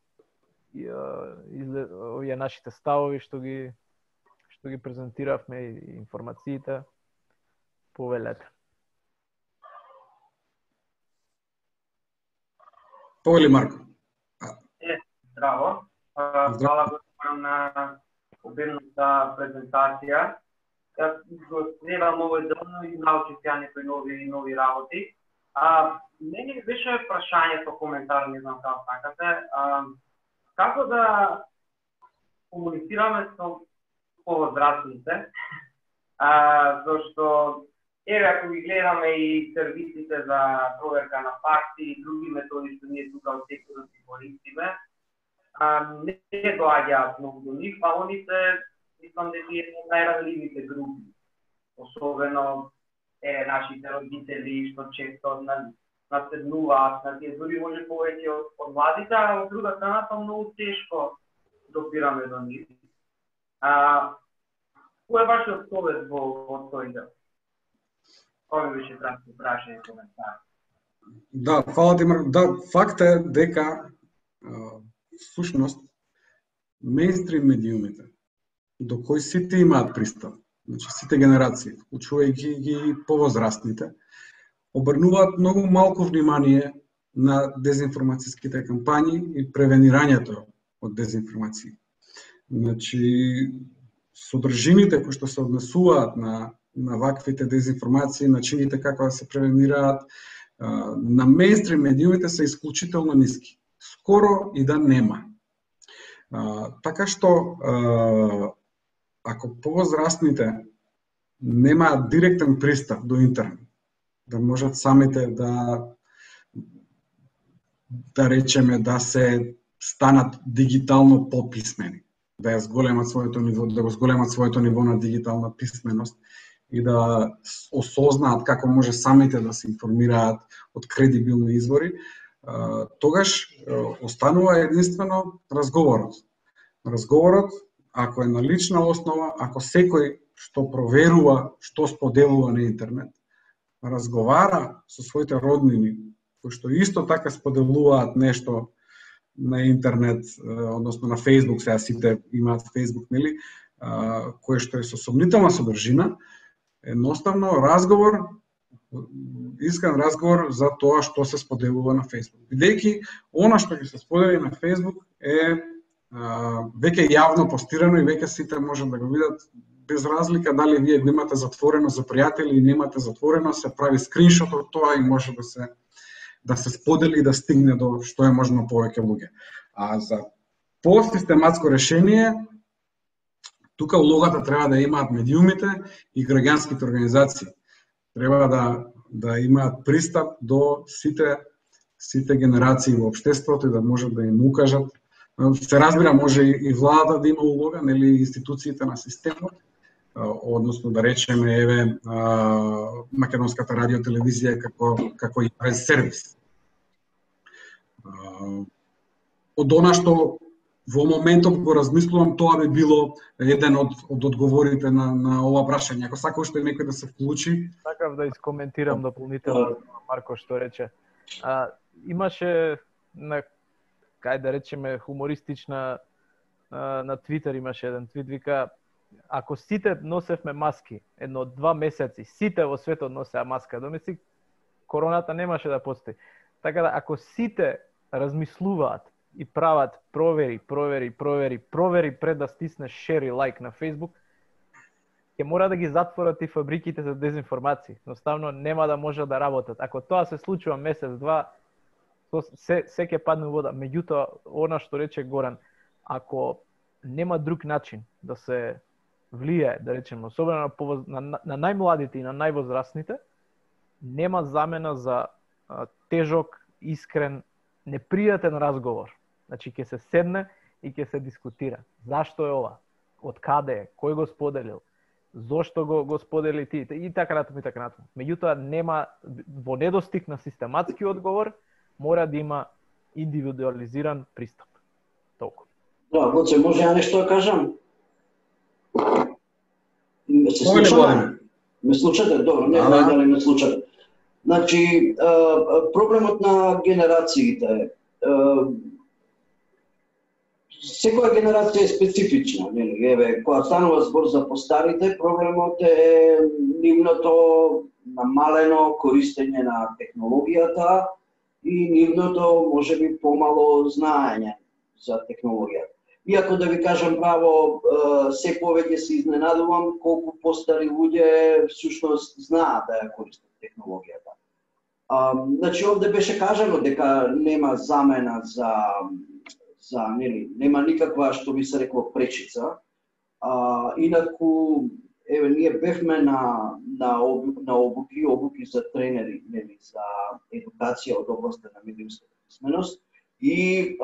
овие нашите ставови што ги презентиравме и информациите, повелете. Повели Марко. Здраво. Хвала го на обемната презентација. Јас го следам овој делно и научив ја некои нови работи. Мене беше прашањето, коментар, не знам како сакате. Како да комуницираме со повозрастните? Зашто еве ако ги гледаме и сервисите за проверка на факти и други методи што ние тука од секторот ги користиме, не доаѓаат многу до нив, а оните мислам дека е најранливите групи. Особено нашите родители што често наседнуваат на тие, дури може повеќе од младите, а од друга страна тоа многу тешко допираме до нив. Кој е вашиот совет во тој дел? Кој беше кратко прашање и коментар? Да, фала ти Марко. Да, факт е дека всушност мејнстрим медиумите до кои сите имаат пристап, значи сите генерации, вклучувајќи ги повозрастните, обрнуваат многу малку внимание на дезинформацијските кампањи и превенирањето од дезинформации. Значи, содржините кои што се однесуваат на ваквите дезинформации, начините како да се превенираат, на мејнстрим медиумите се исклучително ниски. Скоро и да нема. Така што, ако повозрастните немаат директен пристап до интернет, да можат самите да речеме да се станат дигитално пописмени, да го зголемат своето ниво на дигитална писменост и да осознаат како може самите да се информираат од кредибилни извори, тогаш останува единствено разговорот. Разговорот, ако е на лична основа, ако секој што проверува, што споделува на интернет, разговара со своите роднини, кои што исто така споделуваат нешто на интернет, односно на Facebook, сега сите имаат Facebook, нели, кое што е со сомнителна содржина, едноставно разговор, искрен разговор за тоа што се споделува на Facebook. Бидејќи она што ќе се сподели на Facebook е веќе јавно постирано и веќе сите можат да го видат, без разлика дали вие го имате затворено за пријатели или немате затворено, се прави скриншот од тоа и може да се сподели и да стигне до што е можно повеќе луѓе. А за посистематско решение, тука улогата треба да имаат медиумите и граѓанските организации. Треба да имаат пристап до сите генерации во општеството и да можат да им укажат Се разбира, може и владата да има улога, нели институциите на системот, односно да речеме еве Македонската радио телевизија како и през сервис. Од она што во моментот го размислувам, тоа би било еден од одговорите на ова прашање. Ако сака уште некој да се вклучи. Сакав да искоментирам дополнително Марко што рече. Имаше кај да речеме хумористична на Твитер имаше еден твит, вика ако сите носевме маски, едно 2 месеци, сите во светот носеа маска, домисли короната немаше да постои. Така да ако сите размислуваат и прават провери пред да стиснеш шер и лайк на Facebook, ќе мора да ги затворат и фабриките за дезинформации. Едноставно нема да може да работат. Ако тоа се случува месец-два, се ќе падне вода. Меѓутоа, она што рече Горан, ако нема друг начин да се влие, да речеме, особено на најмладите и на највозрастните, нема замена за тежок, искрен, непријатен разговор. Значи, ќе се седне и ќе се дискутира. Зашто е ова? Од каде е? Кој го споделил? Зошто го сподели ти? И така натаму, и така натаму. Меѓутоа, нема, во недостиг на систематски одговор, мора да има индивидуализиран пристап. Толку. Да, Гоце, може ја нешто да кажам? Се слушаме? Ме слушате? Добро, не знам дали ме слушате. Значи, проблемот на генерациите. Секоја генерација е специфична, нели? Еве, кога станува збор за постарите, проблемот е нивното намалено користење на технологијата и нивното можеби помало знаење за технологијата. Иако да ви кажам право, се повеќе се изненадувам колку постари луѓе всушност знаат да ја користат технологијата. Значи овде беше кажано дека нема замена за нели, нема никаква што би се рекло пречица. Инаку еве ние бевме на обуки за тренери, нели, за едукација од областа на медиумската писменост и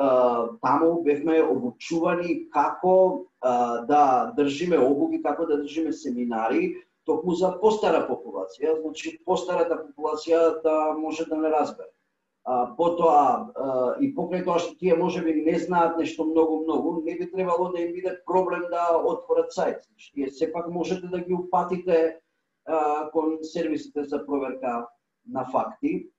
таму бевме обучувани како да држиме обуки, како да држиме семинари токму за постара популација, значи постарата популација да може да не разбере. Потоа и покрај тоа што тие можеби не знаат нешто многу, не би требало да им биде проблем да отворат сајт. Значи, тие сепак можете да ги упатите кон сервисите за проверка на факти.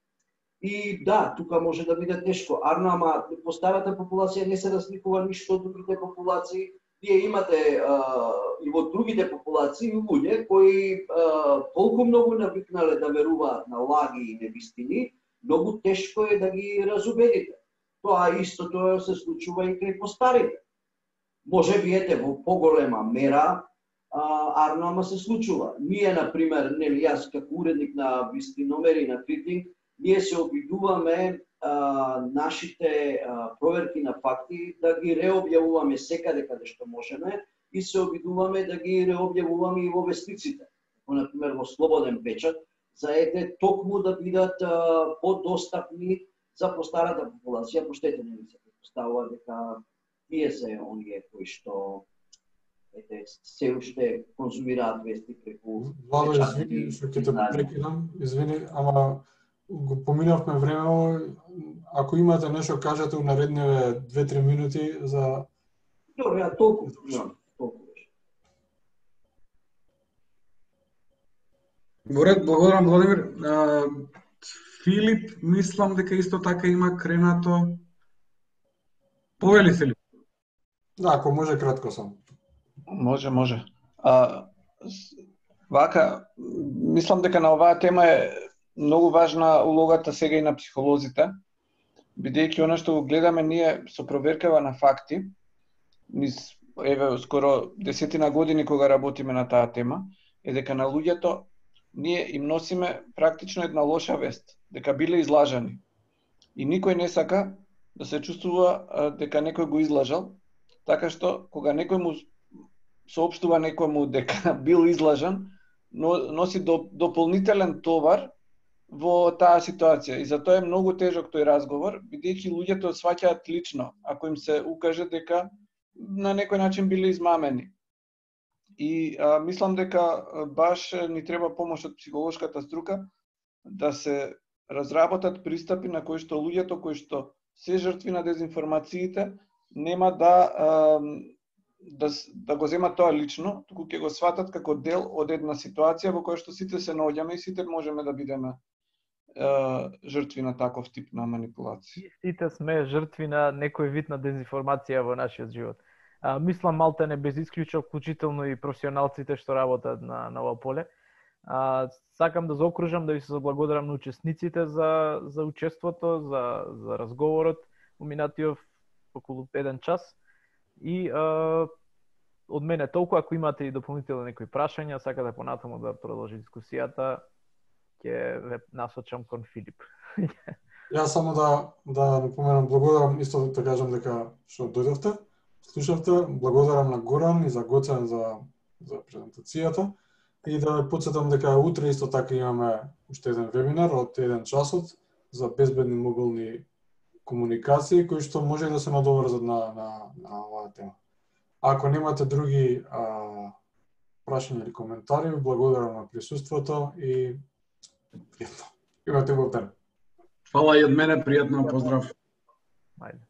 И да, тука може да биде тешко. Ама постарата популација не се разликува ништо од другите популации. Вие имате и во другите популации луѓе кои толку многу навикнале да веруваат на лаги и невистини, многу тешко е да ги разубедите. Тоа истото се случува и кај постарите. Може би ете во поголема мера, ама се случува. Ние, например, нели јас како уредник на вистиномери на Критинг, ние се обидуваме нашите проверки на факти да ги реобјавуваме секаде каде што можеме и се обидуваме да ги реобјавуваме и во вестниците. Например, во Слободен печат, за ете токму да бидат подостапни за постарата популација, поштете не се предпоставува дека тие се оние кои што ете се уште конзумираат вести преку Владо, извини што ќе те прекинам, извини, ама го поминавме време. Ако имате нешто кажете у наредниве 2-3 минути за Добро, ја толку. Во ред, благодарам Владимир. Филип, мислам дека исто така има кренато. Повели, Филип. Да, ако може кратко само. Може. Вака, мислам дека на оваа тема е многу важна улогата сега и на психолозите, бидејќи она што го гледаме ние со проверкава на факти, низ еве скоро 10 години кога работиме на таа тема, е дека на луѓето ние им носиме практично една лоша вест, дека биле излажани. И никој не сака да се чувствува дека некој го излажал, така што кога некој му соопштува некому дека бил излажан, носи дополнителен товар во таа ситуација. И затоа е многу тежок тој разговор, бидејќи луѓето сваќаат лично, ако им се укаже дека на некој начин биле измамени. И мислам дека баш ни треба помош од психолошката струка да се разработат пристапи на кои што луѓето кои што се жртви на дезинформациите нема да го земат тоа лично, туку ќе го сватат како дел од една ситуација во која што сите се наоѓаме и сите можеме да бидеме жртви на таков тип на манипулација. Сите сме жртви на некој вид на дезинформација во нашиот живот. Мислам малтене без исклучок, вклучително и професионалците што работат на ова поле. Сакам да заокружам, да ви се заблагодарам на учесниците за учеството, за разговорот во минатиот околу 1 час. И од мене толку, ако имате и дополнителни некои прашања, сакате понатаму да продолжи дискусијата, ќе ве насочам кон Филип. Јас само да напоменам, благодарам, исто да кажам дека што дојдовте, слушавте, благодарам на Горан и за Гоцен за презентацијата и да подсетам дека утре исто така имаме уште еден вебинар од 1 часот за безбедни мобилни комуникации кои што може да се надоврзат на оваа тема. Ако немате други прашања или коментари, благодарам на присуството и пријатно. Имате убав ден. Фала и од мене, пријатно, поздрав. Ајде.